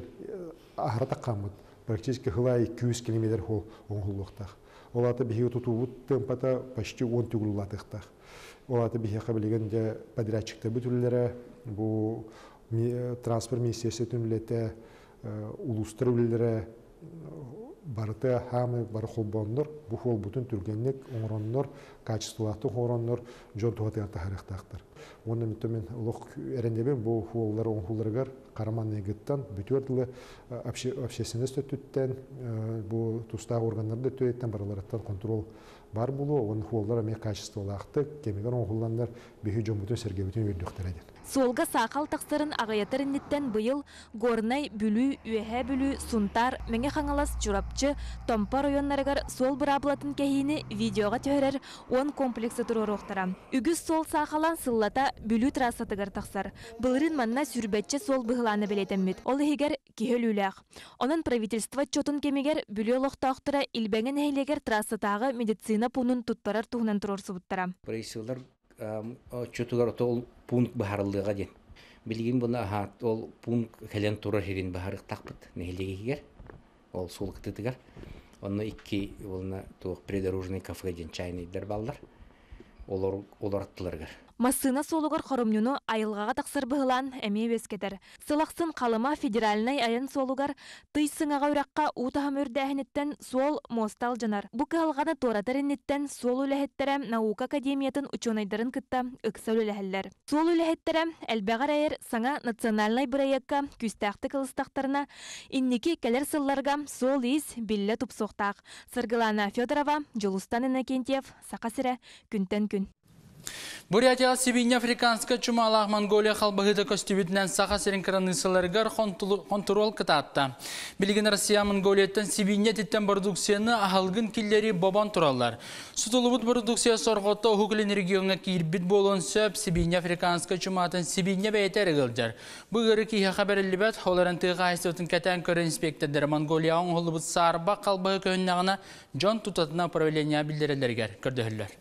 S7: аһара таххаммыт, практически хылай сүүс километр хол оҥоһуллуохтаах. Ол аата биһиги тутуубут темпата почти он төгүл улаатыахтаах. Ол аата биһиэхэ билигин дьэ подрядчиктар бүтүллэрэ, бу транспорт министерствотын үлэтэ, улуустар үлэлэрэ барыта хаамы бары холбооннор, бу холбутун түргэнник оҥороннор, качестволаахтык оҥороннор, дьон туһатыгар таһаарыахтаахтар. Уонна мен олох эрэнэбин бу хуоллар оҥоһулларыгар караманныгыттан бүтүөр дылы общественность өттүттэн, бу тустаах органнар да өттүттэн барыларыттан контрол бар болу, он хуоллар эмиэ качестволаахтык, кэмигэр оҥоһулланнар биһи дьоммутун сэргэбитин үөрдүөхтэрэ диэн.
S16: Суолга саахал тахсарын аҕыйатар инниттэн быйыл Горнай, Бүлүү, Үөһээ Бүлүү, Сунтаар, Мэҥэ Хаҥалас, Чурапчы, Томпо районнарыгар суол быраабылатын кэһиини видеоҕа түһэрэр уон комплексы туруоруохтара. Үгүс суол саахалан сыллата Бүлүү трассатыгар тахсар. Былырыын манна сүүрбэччэ суол быһылаана бэлиэтэммит. Ол иһигэр киһи өлүүлээх. Онон правительство отчетун кэмигэр Бүлүү олохтоохторо Илбэҥэ нэһилиэгэр трассатааҕы медицина пуунун туттарар туһунан туруорсубуттара.
S8: Правительстволар отчетугар ол пункт баһарыллыаҕа диэн. Билигин буну аһаат ол пункт кэлэн турар сирин баһарыктаахпыт нэһилиэгигэр, ол суол кытытыгар. Онно икки уолна туох придорожный кафе диэн чайныйдар баллар. Олор олор аттыларыгар.
S16: Массыына суолугар хоромньуну айылҕаҕа тахсар быһылаан эмиэ үөскэтэр. Сылахсын Халыма федеральнай айан суолугар тый сыҥаҕа үрэххэ уу таһым үрдээһиниттэн суол муоста алдьанар. Бу кыһалҕаны туоратар инниттэн суол үлэһиттэрэ наука академиятын учуонайдарын кытта ыкса үлэлэһэллэр. Суол үлэһиттэрэ элбэҕэр эйэр саҥа национальнай бырайыакка күүстээхтик ылыстахтарына инники кэлэр сылларга суол ис биллэ тупсуохтаах. Саргылана Федорова, Дьулустан Иннокентьев, Саха сирэ, күнтэн күн.
S1: Бурятия Сибиня африканская чумалаах Монголия халбаһыта көстүбүтүнэн Саха сирин кыраныыссаларыгар контрол кытаатта. Билигин Россия Монголияттан Сибиня титтен продукцияны аһалгын киллери бобон тураллар. Сутулубут продукция сорҕото Уһук Илин региоҥҥа киирбит буолуон сөп Сибиня африканская чуматын Сибиня бэйэтэ эрэ. Бу ыарыы киһиэхэ бэриллибэт, ол эрэн тыа хаһаайыстыбатын кэтээн көрөр инспектордара Монголияҕа оҥоһуллубут саарба халбаһы көһүннэҕинэ дьон тутатына управление биллэрэллэригэр көрдөһөллөр.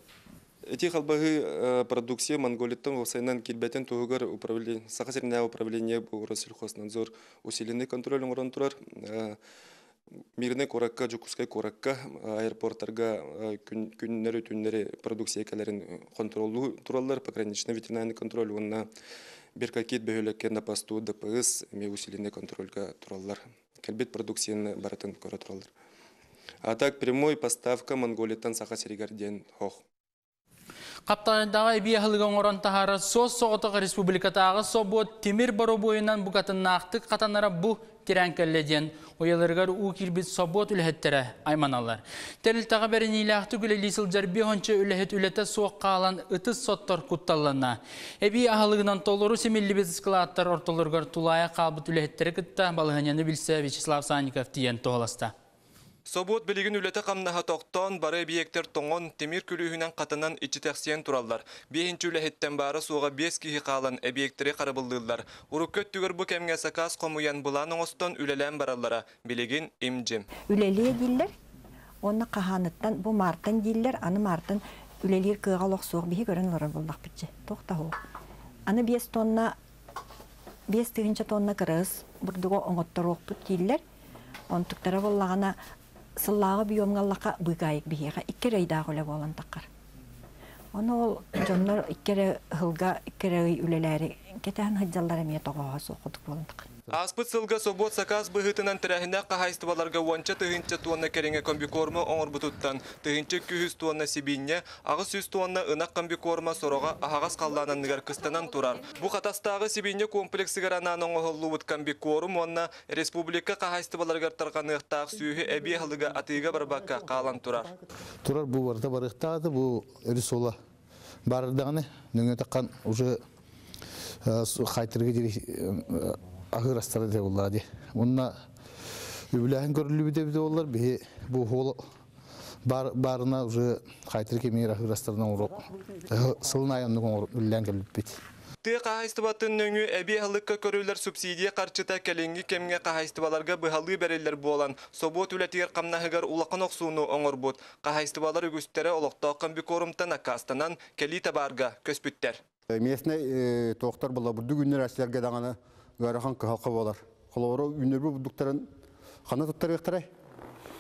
S9: Эти халбаһы продукция Монголияттан уопсайынан киирбэтин туһугар управление, Саха сиринээҕи управление бу Россельхознадзор усиленный контроль оҥорон турар. Мирный куоракка, Дьокуускай куоракка, аэропорттарга күннэри түннэри продукция кэлэрин контроллуу тураллар, пограничный ветеринарный контроль уонна Беркакит бөһүөлэккэ на посту Д П С эмиэ усиленный контрольга тураллар. Кэлбит продукцияны барытын көрө тураллар. А так прямой поставка Монголияттан Саха сиригэр диэн суох.
S1: Хаптаҕайдааҕы эбии аһылыгы оҥорон таһаарар суос-соҕотох республикатааҕы собуот тимир боробуойунан букатыннаахтык хатанара бу тирээн кэллэ диэн уйаларыгар уу киирбит собуот үлэһиттэрэ айманаллар. Тэрилтэҕэ бэриниилээхтик үлэлии сылдьар биэс уонча үлэһит үлэтэ суох хаалан ытыс соттор кутталланна. Эбии аһылыгынан толору симиллибит ыскылааттар ортолоругар тулаайах хаалбыт үлэһиттэри кытта балаһыанньаны билсэ Вячеслав Санников тиийэн туоһуласта.
S10: Собуот билигин үлэтэ-хамнаһа тохтоон, бары эбийиэктэр тоҥон, тимир күлүүһүнэн хатанан иччитэхсийэн тураллар. Биэһинчи үлэһиттэн баара суоҕа биэс киһи хаалан эбийиэктэри харабыллыыллар. Урукку өттүгэр бу кэмҥэ сакаас хомуйан былаан оҥостон үлэлээн бараллара. Билигин им-дьим.
S11: Үлэлиэ дииллэр. Онна каханыттан бу мартан дииллер, аны мартан үлелир кыага лохсуох биһи көрөн олорор боллах бичче. Тохта хо. Аны бес тонна бес тыгынча тонна кырыс бурдуга оңотторуохпут дииллер. Онтуктара боллагана сыллааҕы биомгаллака быгаайык биһиэхэ икки рейдаах үлэ буолан таққар. Оны ол дьоннор иккере хылга иккере үлеләри кетен хыджаллар эмиэ тоҕоһо суохудук буолан таққар.
S10: Аспыт сылга собот сакаас быһытынан тәрәһинә қахайстыбаларга уонча тыһынча туонна кэриҥэ комбикорма оҥорбутуттан тыһынча күһүс туонна сибиинньэ, аҕыс сүүс туонна ынах комбикорма сороҕо аһаҕас халлаананныгар кыстанан турар. Бу Хатастааҕы сибиинньэ комплексыгар анаан оҥоһуллубут комбикорм уонна республика қахайстыбаларыгар тарҕаныахтаах сүүһү эбии аһылыга атыыга барбакка хаалан турар.
S12: Турар бу барыта барыктаады бу рисола барырдаганы нөңө таккан уже хайтырга дири ахыр астары де боллар. Онна үбүләһин көрүлүбү де боллар бихи бу хол бар барына уже хайтыр кемер ахыр астарынан уруп сылын айымны үллән келип бит.
S10: Тыа қахайстыбатын нөңү әби халыкка көрүлөр субсидия қарчыта кәлеңги кемге қахайстыбаларга быһалыы береллер буолан, собот үлэтигер камнаһыгар улахан охсууну оҥорбут. Қахайстыбалар үгүстере олохтоох комбикорумтан аккаастанан кэлии табаарга көспүттэр.
S13: Местный тоқтар була бурду күннер әстерге даңаны ыарахан кыһалка болар. Холоро үннөр бурдуктарын хана туттарыктарай.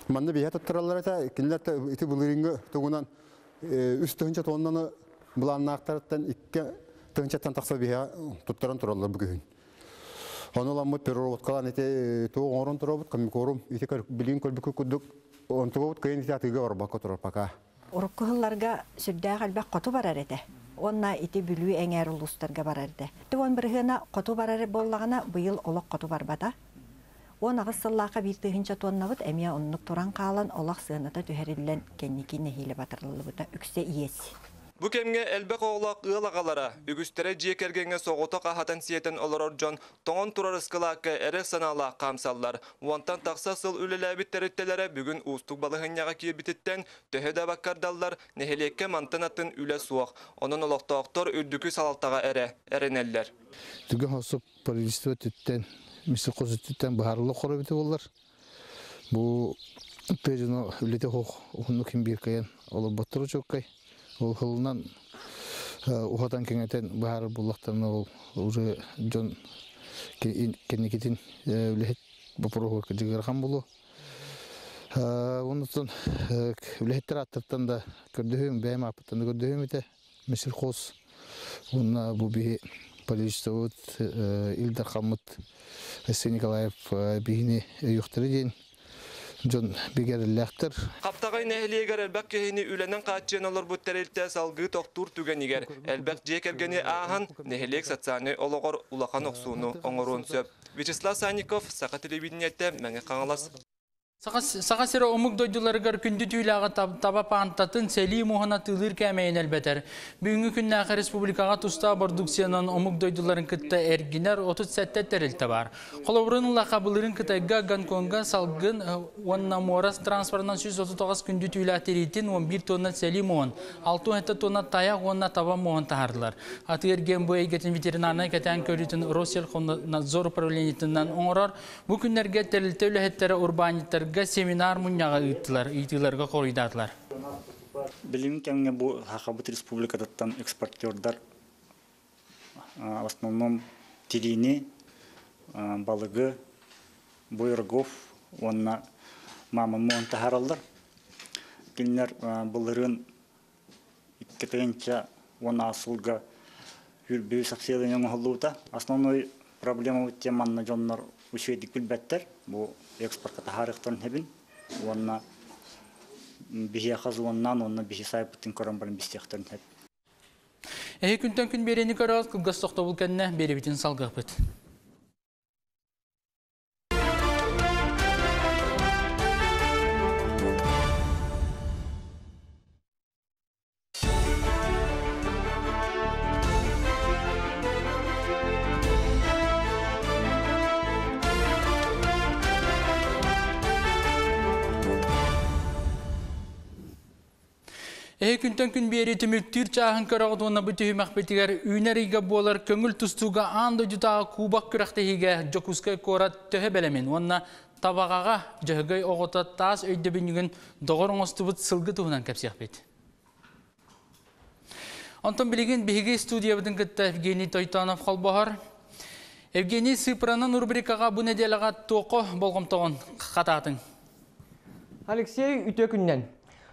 S13: Манна бия туттаралар это кинилер ити булырынгы тугунан үс тыһынча тоннаны буланнаактарыттан икки тыһынчаттан тахса бия туттаран тураллар бүгүн. Ону переработкалан ити туу оңорон туробут комбикорум ити билин көлбүкү кудук онтугобут кыйын ити атыга барбакка турар пока.
S11: Урукку хылларга сүрдээх элбэх хоту барар этэ. Онна ити бүлүү эңээр улуустарга барар этэ. Туон бырыһына хоту барар боллагана быйыл олох хоту барбата. Он аҕыс сыллааха биир тыһынча туоннабыт эмиэ оннук туран хаалан олох сыаната түһэриллэн кэнники нэһиилэ батырыллыбыта үксэ иэс.
S10: Бу кемге элбэх оҕолоох ыал аҕалара, үгүстэрэ дьиэ кэргэҥҥэ соҕотох аһатан сиэтэн олорор дьон тоҥон турар ыскылаакка эрэ санаалаах хаамсаллар. Уонтан тахса сыл үлэлээбит тэрилтэлэрэ бүгүн уустук балаһынньаҕа киирбититтэн төһө да баккардаллар, нэһилиэккэ мантан атын үлэ суох. Онон олохтоохтор үрдүкү салалтаҕа эрэ эрэнэллэр.
S12: Түгэн хосуп правительство түттен, мисл козу түттен баһарылы хоробити боллар. Бу тыжыно үлете хох ухунну ким бир кайын олоботтуру чоккай. Ол хылынан ухатан кеңетен баһар буллахтан ол уже дьон кенникитин үлэһит боппуруоһугар кыдьыгырхан булу. Оннуттан үлэһиттер аттыртан да көрдөһүм, бэйэм аппыттан да көрдөһүм ите. Мисил хос онна бу биһи правительствобут Илдар Хаммыт Алексей Николаев биһини өйүөхтэрэ диэн дьон бигэриллээхтэр.
S10: Хаптаҕай нэһилиэгэр элбэх киһини үлэнэн хааччыйан олорбут тэрилтэ салгыы тохтуур түгэнигэр элбэх дьиэ кэргэни ааһан нэһилиэк социальнай олоҕор улахан охсууну оҥоруон сөп. Вячеслав Санников, Саха телевидениетэ, Мэҥэ Хаҥалас.
S1: Саха сирэ омук дойдуларыгар күндү түүлээҕи таба паантатын сэлии муһана тыылыыр кээмэйин элбэтэр. Бүгүҥҥү күннээхи республикаҕа тустаах бордукциянан омук дойдуларын кытта эргинэр отут сэттэ тэрилтэ баар. Холобурун ыллаха былырын Кытайга, Гонконга салгын уонна муорас транспортынан сүүс отут тоҕус күндү түүлээх тириитин он биир тонна сэлии муһун, алты уон тонна тайах уонна таба муһун таһардылар. Атыы эргиэн бу эйгэтин ветеринарнай кэтээн көрүүтүн Россельхознадзор управлениетынан оҥорор. Бу күннэргэ тэрилтэ үлэһиттэрэ урбаанньыттарга семинар мунньаҕа ыыттылар, ыйтыыларга хоруйдаатылар.
S14: Билим кэмҥэ бу Хахабыт республикатыттан экспортердар в основном тириини, балыгы, буйргов уонна мамон муон таһараллар. Кинилэр былырыын икки тыһыынча уон сылга хүрбүү саксыялын оҥоһуллубута. Основной проблема тем манна дьоннор үчүгэйдик билбэттэр. Бу экспортка таһаарыахтарын хэбин уонна биһиэхэ зоннан уонна биһи сайпытын көрөн баран бистиэхтэрин хэп.
S1: Эһи күнтэн күн биэрэни көрөөт кылгас тохтобул кэннэ биэрибитин салгыахпыт. Эһи күнтэн күн биэри түмүктүүр чааһын көрөҕүт уонна бу түһүмэхпитигэр үүнэр ыйга буолар көҥүл тустууга аан дойдутааҕы кубок күрэхтэһиигэ Дьокуускай куорат төһө бэлэмин уонна Табағаға жығығай оғыта тас өйді бүнігін доғыр оңыстыбыт сылғы туһунан кәпсеқпет. Антон Билигин биһиги студиябытын кытта Евгений Тойтанов холбоһор. Евгений, сыпыранан рубрикаға бу неделяға тоқо болғымтоғын қататын.
S5: Алексей, үтө күннен.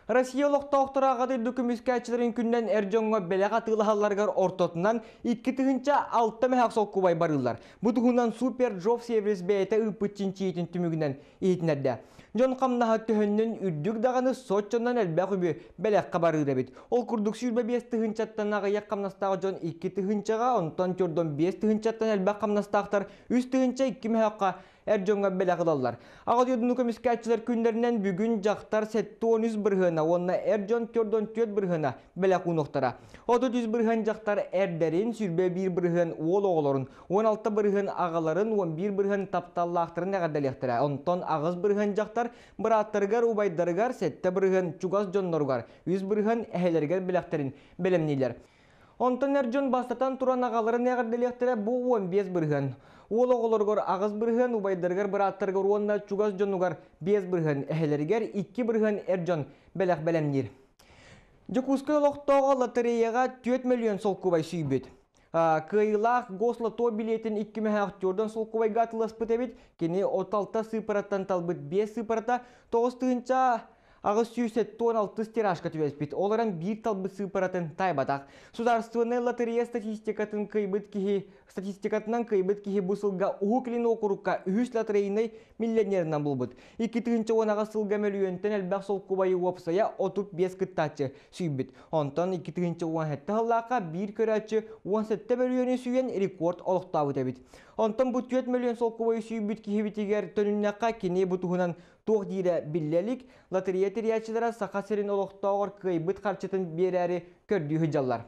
S5: Россия олохтоохторо Аҕа дойду көмүскээччилэрин күнүнэн эр дьоҥҥо бэлэх атыылаһалларыгар ортотунан икки тыһыынча алта мөһөөх солкуобай барыыллар. Бу туһунан Супер Джоб сервис бэйэтэ ыыппыт чинчийиитин түмүгүнэн иһитиннэрдэ. Дьон хамнаһа төһөннөн үрдүк даҕаны соччонон элбэх үбү бэлэххэ барыыр эбит. Ол курдук сүүрбэ биэс тыһыынчаттан аҕыйах хамнастаах дьон икки тыһыынчаҕа, онтон төрдөн биэс тыһыынчаттан элбэх хамнастаахтар үс тыһыынча икки мөһөөххө эр дьоҥҥо бэлэх ылаллар. Аҕа дойдуну көмүскээччилэр күннэринэн бүгүн дьахтар сэттэ уон үс бырыһыана уонна эр дьон төрдөн түөрт бырыһыана бэлэх уунуохтара. Отут үс бырыһыан дьахтар эрдэрин, сүүрбэ биир бырыһыан уол оҕолорун, уон алта бырыһыан аҕаларын, уон биир бырыһыан тапталлаахтарын эҕэрдэлиэхтэрэ. Онтон аҕыс бырыһыан дьахтар бырааттарыгар, убайдарыгар, сэттэ бырыһыан чугас дьонноругар, үс бырыһыан эһэлэригэр бэлэхтэрин бэлэмнииллэр. Онтон эр дьон бастатан туран аҕаларын эҕэрдэлиэхтэрэ, бу уон биэс бырыһыан. Уол оҕолоругар аҕыс бырыһыан, убайдарыгар, бырааттарыгар уонна чугас дьонугар биэс бырыһыан, эһэлэригэр икки бырыһыан эр дьон бэлэх бэлэмниир. Дьокуускай олохтооҕо лотереяҕа түөрт миллион солкуобай сүүйбүт. Кыайыылаах гослото билиэтин икки мөһөөх төрдөн солкуобайга атыыласпыт эбит. Кини отут алта сыыпараттан талбыт биэс сыыпарата тоҕус тыһыынча аҕыс сүүс сэттэ уон алтыс тиражка түбэспит. Ол эрэн биир талбыт сыыпаратын тайбатах. Судаарыстыбаннай лотерея статистикатын кыайбыт киһи статистикатынан кыайбыт киһи бу сылга Уһук Илин уокурукка үһүс лотерейнай миллионерынан буолбут. Икки тыһыынча уон аҕыс сылга мөлүйүөнтэн элбэх солкуобайы уопсайа отут биэс кыттааччы сүүйбүт. Онтон икки тыһыынча уон сэттэ сыллаахха биир көрөөччү уон сэттэ мөлүйүөнү сүүйэн рекорд олохтообут эбит. Онтон бу түөрт мөлүйүөн солкуобайы сүүйбүт киһибитигэр төнүннэххэ кини бу туһунан туох диирэ биллэлик, лотерея тэрийээччилэрэ Саха сирин олохтооҕор кыайбыт харчытын биэрээри көрдүү сылдьаллар.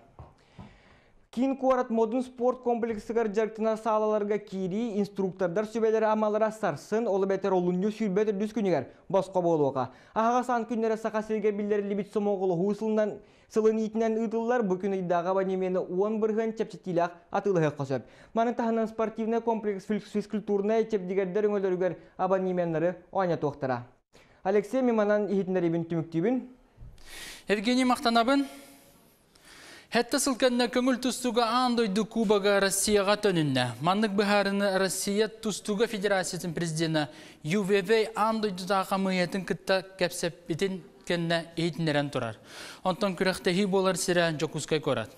S5: Киин куорат Модун спорт комплексыгар дьарыктанар саалаларга киирии инструктордар сүбэлэрэ амалара сарсын, ол эбэтэр олунньу сүүрбэ төрдүс күнүгэр босхо буолуоҕа. Аһаҕас аан күннэрэ Саха сиригэр биллэриллибит сомоҕолоһуу сылынан сылын иитинэн ыытыллар, бу күн ыйдааҕы абонемены уон бырыһыан чэпчэтиилээх атыылаһыахха сөп. Маны таһынан спортивнай комплекс физкультурнай чэбдигэрдэр өҥөлөрүгэр абонеменнары оонньотуохтара. Алексей Миманан иһитиннэрибин түмүктүүбүн.
S1: Евгений, махтанабын. Хэтте сылканна көңүл тустуга аан дойду Кубога Россияға төнүннэ. Маннык быһаарыны Россия тустуга Федерациятын президенті Ю В В аан дойдутааҕы хамыыһыйатын кытта кэпсэппитин кэннэ иһитиннэрэн турар. Онтон күрэхтэһии буолар сирэ Дьокуускай куорат.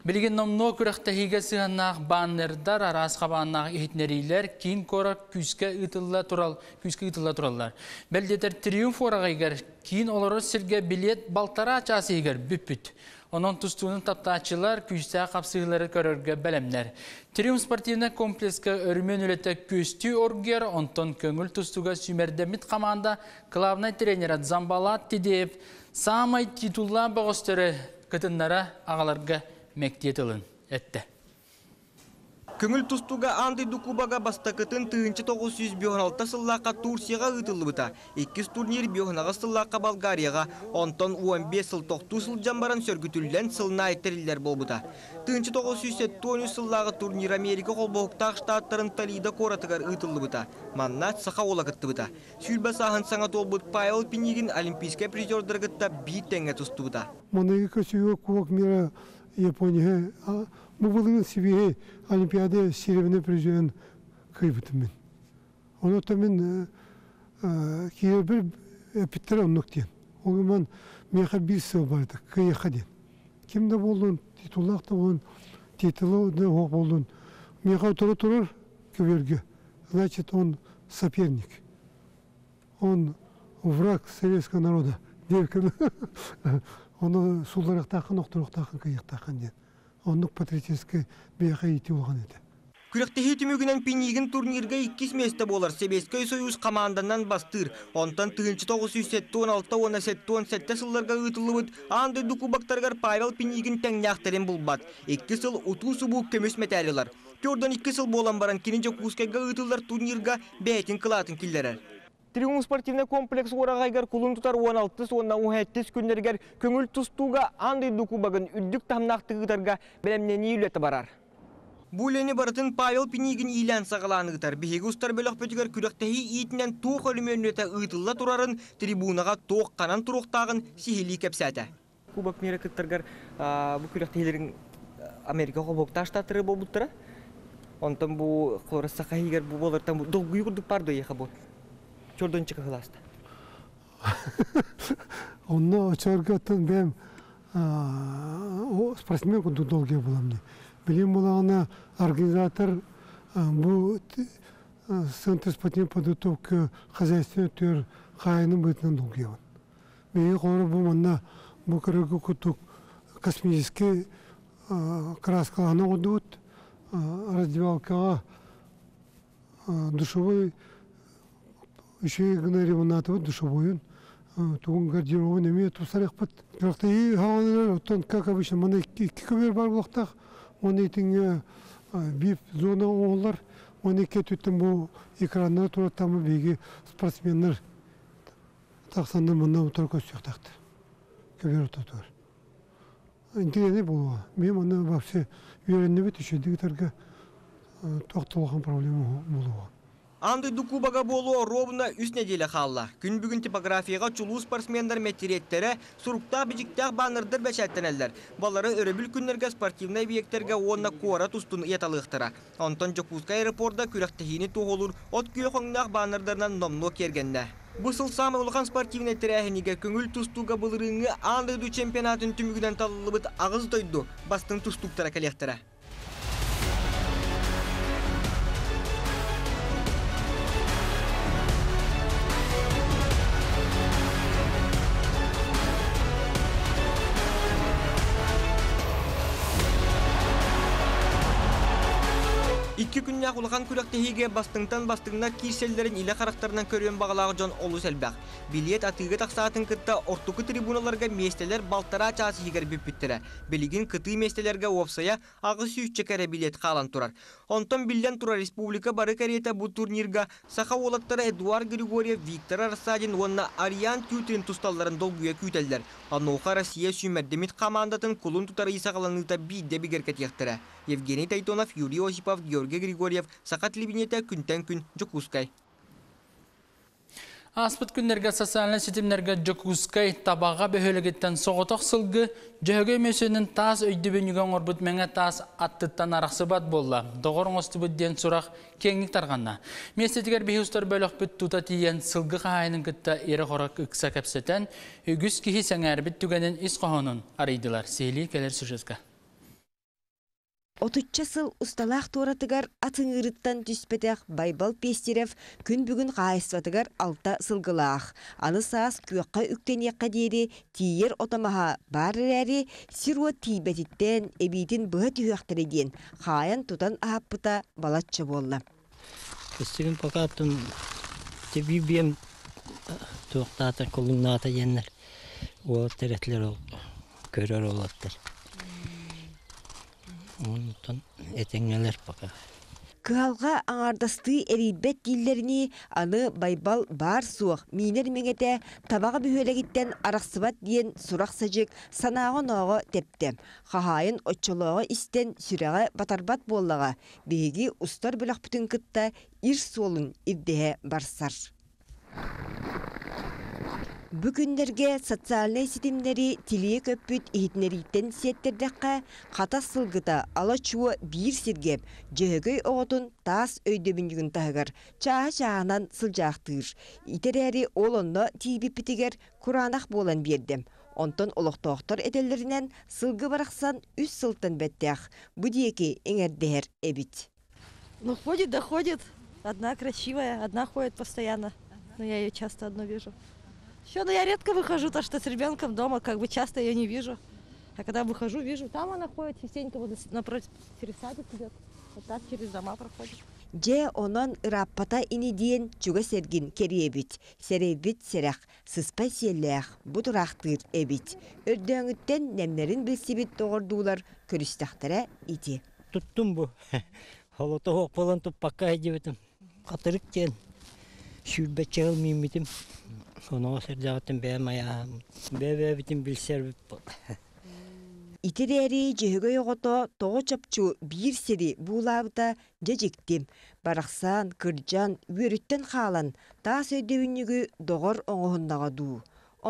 S1: Билигин номнуо күрэхтэһиигэ сыһыаннаах баннердар, араас хабааннаах иһитиннэриилэр киин куорат күүскэ ыытылла турал, күүскэ ыытылла тураллар. Бэлдетер Триумф уораҕайыгар киин олорор сиргэ билет балтараа чаас иһигэр бүппүт. Онон тустуунун таптааччылар күүстээх хапсыһыылары көрөргө бэлэмнэр. Триумф спортивнай комплекска өрүмөн үлэтэ күстүү оргуйар, онтон көҥүл тустууга сүүмэрдэммит команда главнай тренері Замбалат Тидеев самай титуллаах бөҕөстөрү кытыннара аҕаларга мэктиэ тылын этте.
S5: Көңүл тустууга аан дойду Кубога бастакытын тыһыынча тоҕус сүүс биэс алта сыллаахха Турцияҕа ыытыллыбыта. Иккис турнир биэс аҕыс сыллаахха Болгарияҕа, онтон уон биэс сыл тохтуу сылдьан баран сөргүтүллэн сылына айттариллэр буолбута. Тыһыынча тоҕус сүүс сэттэ уон үс сыллааҕы турнир Америка холбоһуктаах штаттарын Толидо куоратыгар ыытыллыбыта. Манна саха уола кыттыбыта. Сүүрбэ сааһын саҥа туолбут Павел Пинигин олимпийскай призердаргытта биир тэҥҥэ тустубута.
S6: Маныгы көсүүгө Кубок мира Япония, бу былыргы Сибири Олимпиада серебряный призерин кыйбытым мен. Оны мен кийер эпиттер оннук диэн. Ол меха бир сыл барды, кыйыха диэн. Ким да болдун, титуллаах да болдун, титулу да хоқ болдун. Меха тура турар көберге. Значит, он соперник. Он враг советского народа. Оны сулдарақтақын, оқтырақтақын, кыйықтақын ден. Оннук патриотический бияқа ити болған еді.
S5: Күрэхтэһии түмүгүнэн Пинигин турнирга иккис месте буолар Сэбиэскэй Союз команданан бастыыр. Онтон тыһыынча тоҕус сүүс сэттэ уон алта уонна сэттэ уон сэттэ сылларга ыытыллыбыт аан дойду кубоктарыгар Павел Пинигин тэҥнээхтэрин булбат. Икки сыл утуу субуу көмүс мэтээлилар. Төрдөн икки сыл буолан баран кини Дьокуускайга ыытыллар турнирга бэйэтин кылаатын киллэрэр. Триумф спортивный комплекс уораҕайыгар кулун тутар уон алтыс уонна уон сэттис күннэригэр көҥүл тустууга аан дойду кубогын үрдүк таһымнаах тыгытарга бэлэмнэнии үлэтэ барар. Бу үлэни барытын Павел Пинигин иилээн саҕалаан ыытар. Биһиги устар бөлөхпүтүгэр күрэхтэһии иитинэн туох өрөмүөннэтэ ыытылла турарын, трибунаҕа туох ханан туруохтааҕын сиһилии кэпсээтэ. Кубок мира кыттаргар бу күрэхтэһиилэрин Америка холбоһуктаах штаттары буолбуттара. Онтон бу Саха сиригэр бу буолартан долгуйуу курдук бар дуо бу. Чордон чыкыһыласта.
S6: Онно очорготтон бэм спортсмен курдук долгуйа буламны. Билим булагына организатор бу Центр спортивной подготовки хозяйственный төр хайының бытынан долгуйабын. Бейі қоры бу манна бу кыргы кутук космический краскаланы одут, раздевалкаға душевой еще гына ремонтаты душевойын тугун гардеробын эме тусарык бит. Бирок и хаванылар оттон, как обычно, мына икки көбөр бар булактак, оны итиңе вип зона оңолар, оны эки түттен бу экрандар тураттамы биги спортсмендер таксандар мында утура көстүктакты. Көбөр ототор. Интересный болуа. Мен мында вообще үйреніп түшөдүк тоқтолған проблема болуа.
S5: Аан дойду кубога буолуо ровно үс нэдиэлэ хаалла. Күн бүгүн типографияҕа чулуу спортсменнар мэтириэттэрэ, суруктаах-бичиктээх баннердар бэчээттэнэллэр. Балары өрөбүл күннэргэ спортивнай объектарга уонна куорат устун ыйаталыахтара. Онтон Дьокуускай аэропорда күрэхтэһиини туоһулуур от күөх өҥнөөх баннердарынан номнуо киэргэннэ. Бу сыл саамай улахан спортивнай тэрээһинигэ көҥүл тустууга былырыыҥҥы аан дойду чемпионатын түмүгүнэн талыллыбыт аҕыс дойду бастыҥ тустууктара кэлиэхтэрэ. Икки күннээх улахан күрэхтэһиигэ бастыҥтан бастыҥнар киирсэллэрин илэ харахтарынан көрүөн баҕалаах дьон олус элбэх. Билиэт атыыга тахсаатын кытта ортоку трибуналарга миэстэлэр балтараа чаас иһигэр бүппүттэрэ. Билигин кытыы миэстэлэргэ уопсайа аҕыс сүүсчэкэ эрэ билиэт хаалан турар. Онтон биллэн турар, республика бары кэриэтэ бу турнирга саха уолаттара Эдуард Григорьев, Виктор Рассадин уонна Ариан Тютрин тусталларын долгуйа күүтэллэр. Онуоха Россия сүүмэрдэммит командатын кулун тутар ый саҕаланыыта биирдэ бигэргэтиэхтэрэ. Евгений Тайтонов, Юрий Осипов, Георгий Григорьев, Саха телевидениетэ, күнтэн күн, Дьокуускай.
S1: Ааспыт күннэргэ социальнай ситимнэргэ Дьокуускай Табаҕа бөһүөлэгиттэн соҕотох сылгы Дьөһөгөй мөссүөнүн таас өйдөбүнньүгэ оҥорбут мэҥэ таас аттыттан арахсыбат буолла. Доҕор оҥостубут диэн сурах киэҥник тарҕанна. Миэстэтигэр биһи устар бөлөхпүт тута тиийэн сылгы хаһаайынын кытта ирэ-хоро ыкса кэпсэтэн, үгүс киһи сэҥээрбит түгэнин ис хоһоонун арыйдылар. Сиһилии кэлэр сюжетка.
S15: Отучча сыл усталаах туоратыгар атыҥырыттан түспэтэх Байбал Пестерев күн бүгүн хаһаайыстыбатыгар алта сылгылаах. Аны саас күөххэ үктэниэххэ диэри тиийэр ото-маһа баар эрээри, сир-уот тиийбэтиттэн эбиитин быһа түһүөхтэрэ диэн хаайан тутан аһаппыта балачча буолла.
S17: Көстүгүн покаттым тебибием туохтаата колуҥнаата диэннэр уолаттар этилэр ол көрөр уолаттар. Онтон этэҥҥэлэр пока.
S15: Кыһалҕа аҥаардастыы эрийбэт дииллэринии, аны Байбал баар суох миинэр мэҥэтэ Табаҕа бөһүөлэгиттэн арахсыбат диэн сурах-садьык санааҕа-онооҕо тэптэ. Хаһаайын оччолооҕо истэн сүрэҕэ батарбат буоллаҕа. Биһиги устар бөлөхпүтүн кытта ир суолун ирдэһэ барсар. Бу күннэргэ социальнай ситимнэри тилийэ көппүт иһитиннэрииттэн сиэттэрдэххэ, хатас сылгыта ала-чуо биир сиргэ Дьөһөгөй оҕотун таас өйдөбүнньүгүн таһыгар чааһы-чааһынан сылдьаахтыыр. Итэрээри ол онно тиийбиппитигэр кураанах буолан биэрдим. Онтон олохтоохтор этэллэринэн сылгы барахсан үс сылтан бэттээх. Бу диэки эҥэрдэһэр эбит.
S18: Ну, ходит, да ходит. Одна красивая, одна ходит постоянно. Но я ее часто одну вижу. Еще, ну, я редко выхожу, то что с ребенком дома, как бы часто ее не вижу. А когда выхожу, вижу, там она ходит частенько, вот напротив, через садик идет, вот так через дома проходит.
S15: Дьэ, онон ырааппата ини диэн чугас эргин кэрийэбит, сэрэйбит сэрэх, сыспай сиэллээх, бу тураахтыыр эбит. Өрдөөҥүттэн нэмнэрин билсибит доҕордуулар көрүстэхтэрэ ити.
S17: Туттум бу. Холото суох буолан туппакка сылдьыбытым. Хатырык диэн сүүрбэччэ сыл мииммитим. Оноҕос эрдэҕиттэн бэйэм айааһым, бэйэ-бэйэбитин билсэрбит.
S15: Итирээри Дьөһөгөй оҕото тоҕо чопчу биир сири буулаабыта дьэ дьикти. Барахсан, кырдьан, үөрүттэн хаалан, таас өйдөбүнньүгү доҕор оҥоһуннаҕа дуу.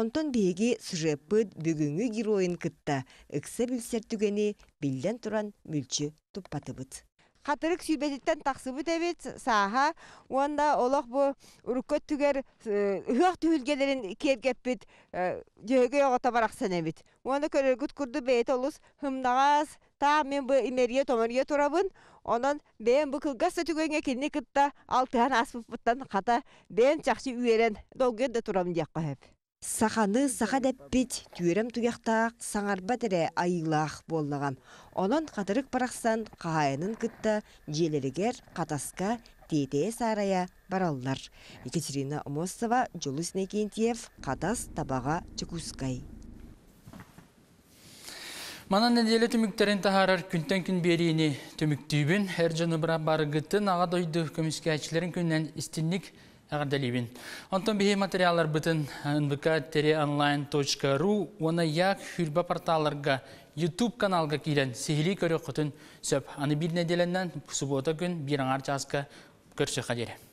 S15: Онтон биһиги сюжеппыт бүгүҥҥү геройун кытта ыкса билсэр түгэни биллэн туран мүлчү туппатыбыт.
S19: Хатырык сүүрбэтиттэн тахсыбыт эбит сааһа уонна олох бу урукку өттүгэр ыһыах түһүлгэлэрин киэргэппит Дьөһөгөй оҕото барахсан эбит. Уонна көрөргүт курдук бэйэтэ олус һымнаҕас, таах мин бу имэрийэ-томоруйа турабын. Онон бэйэм бу кылгас да түгэҥҥэ кинини кытта алтыһан ааспыппыттан хата бэйэм чахчы үөрэн долгуйан да турабын диэххэ сөп.
S15: Саханы саха дэппит, түөрэм туйахтаах, саҥарбат эрэ айыылаах буоллаҕа. Онон хатырык барахсан хаһаайынын кытта дьиэлэригэр Хатаска тиэтэйэ-саарайа бараллар. Екатерина Амосова, Дьулус Иннокентьев, Хатас, Табаҕа, Дьокуускай.
S1: Манан нэдиэлэ түмүктэрин таһаарар күнтэн күн биэриини түмүктүүбүн. Эр дьону барыгытын Аҕа дойду көмүскээччилэрин күнүнэн истиҥник эҕэрдэлиибин. Онтон биһи материалларбытын эн бэ ка тире онлайн точка ру уонна Як хүрбэ порталларга, YouTube каналга киирэн сиһилии көрүөххүтүн сөп. Аны биир нэдиэлэнэн суббота күн биир аҥаар чааска көрсүөххэ диэри.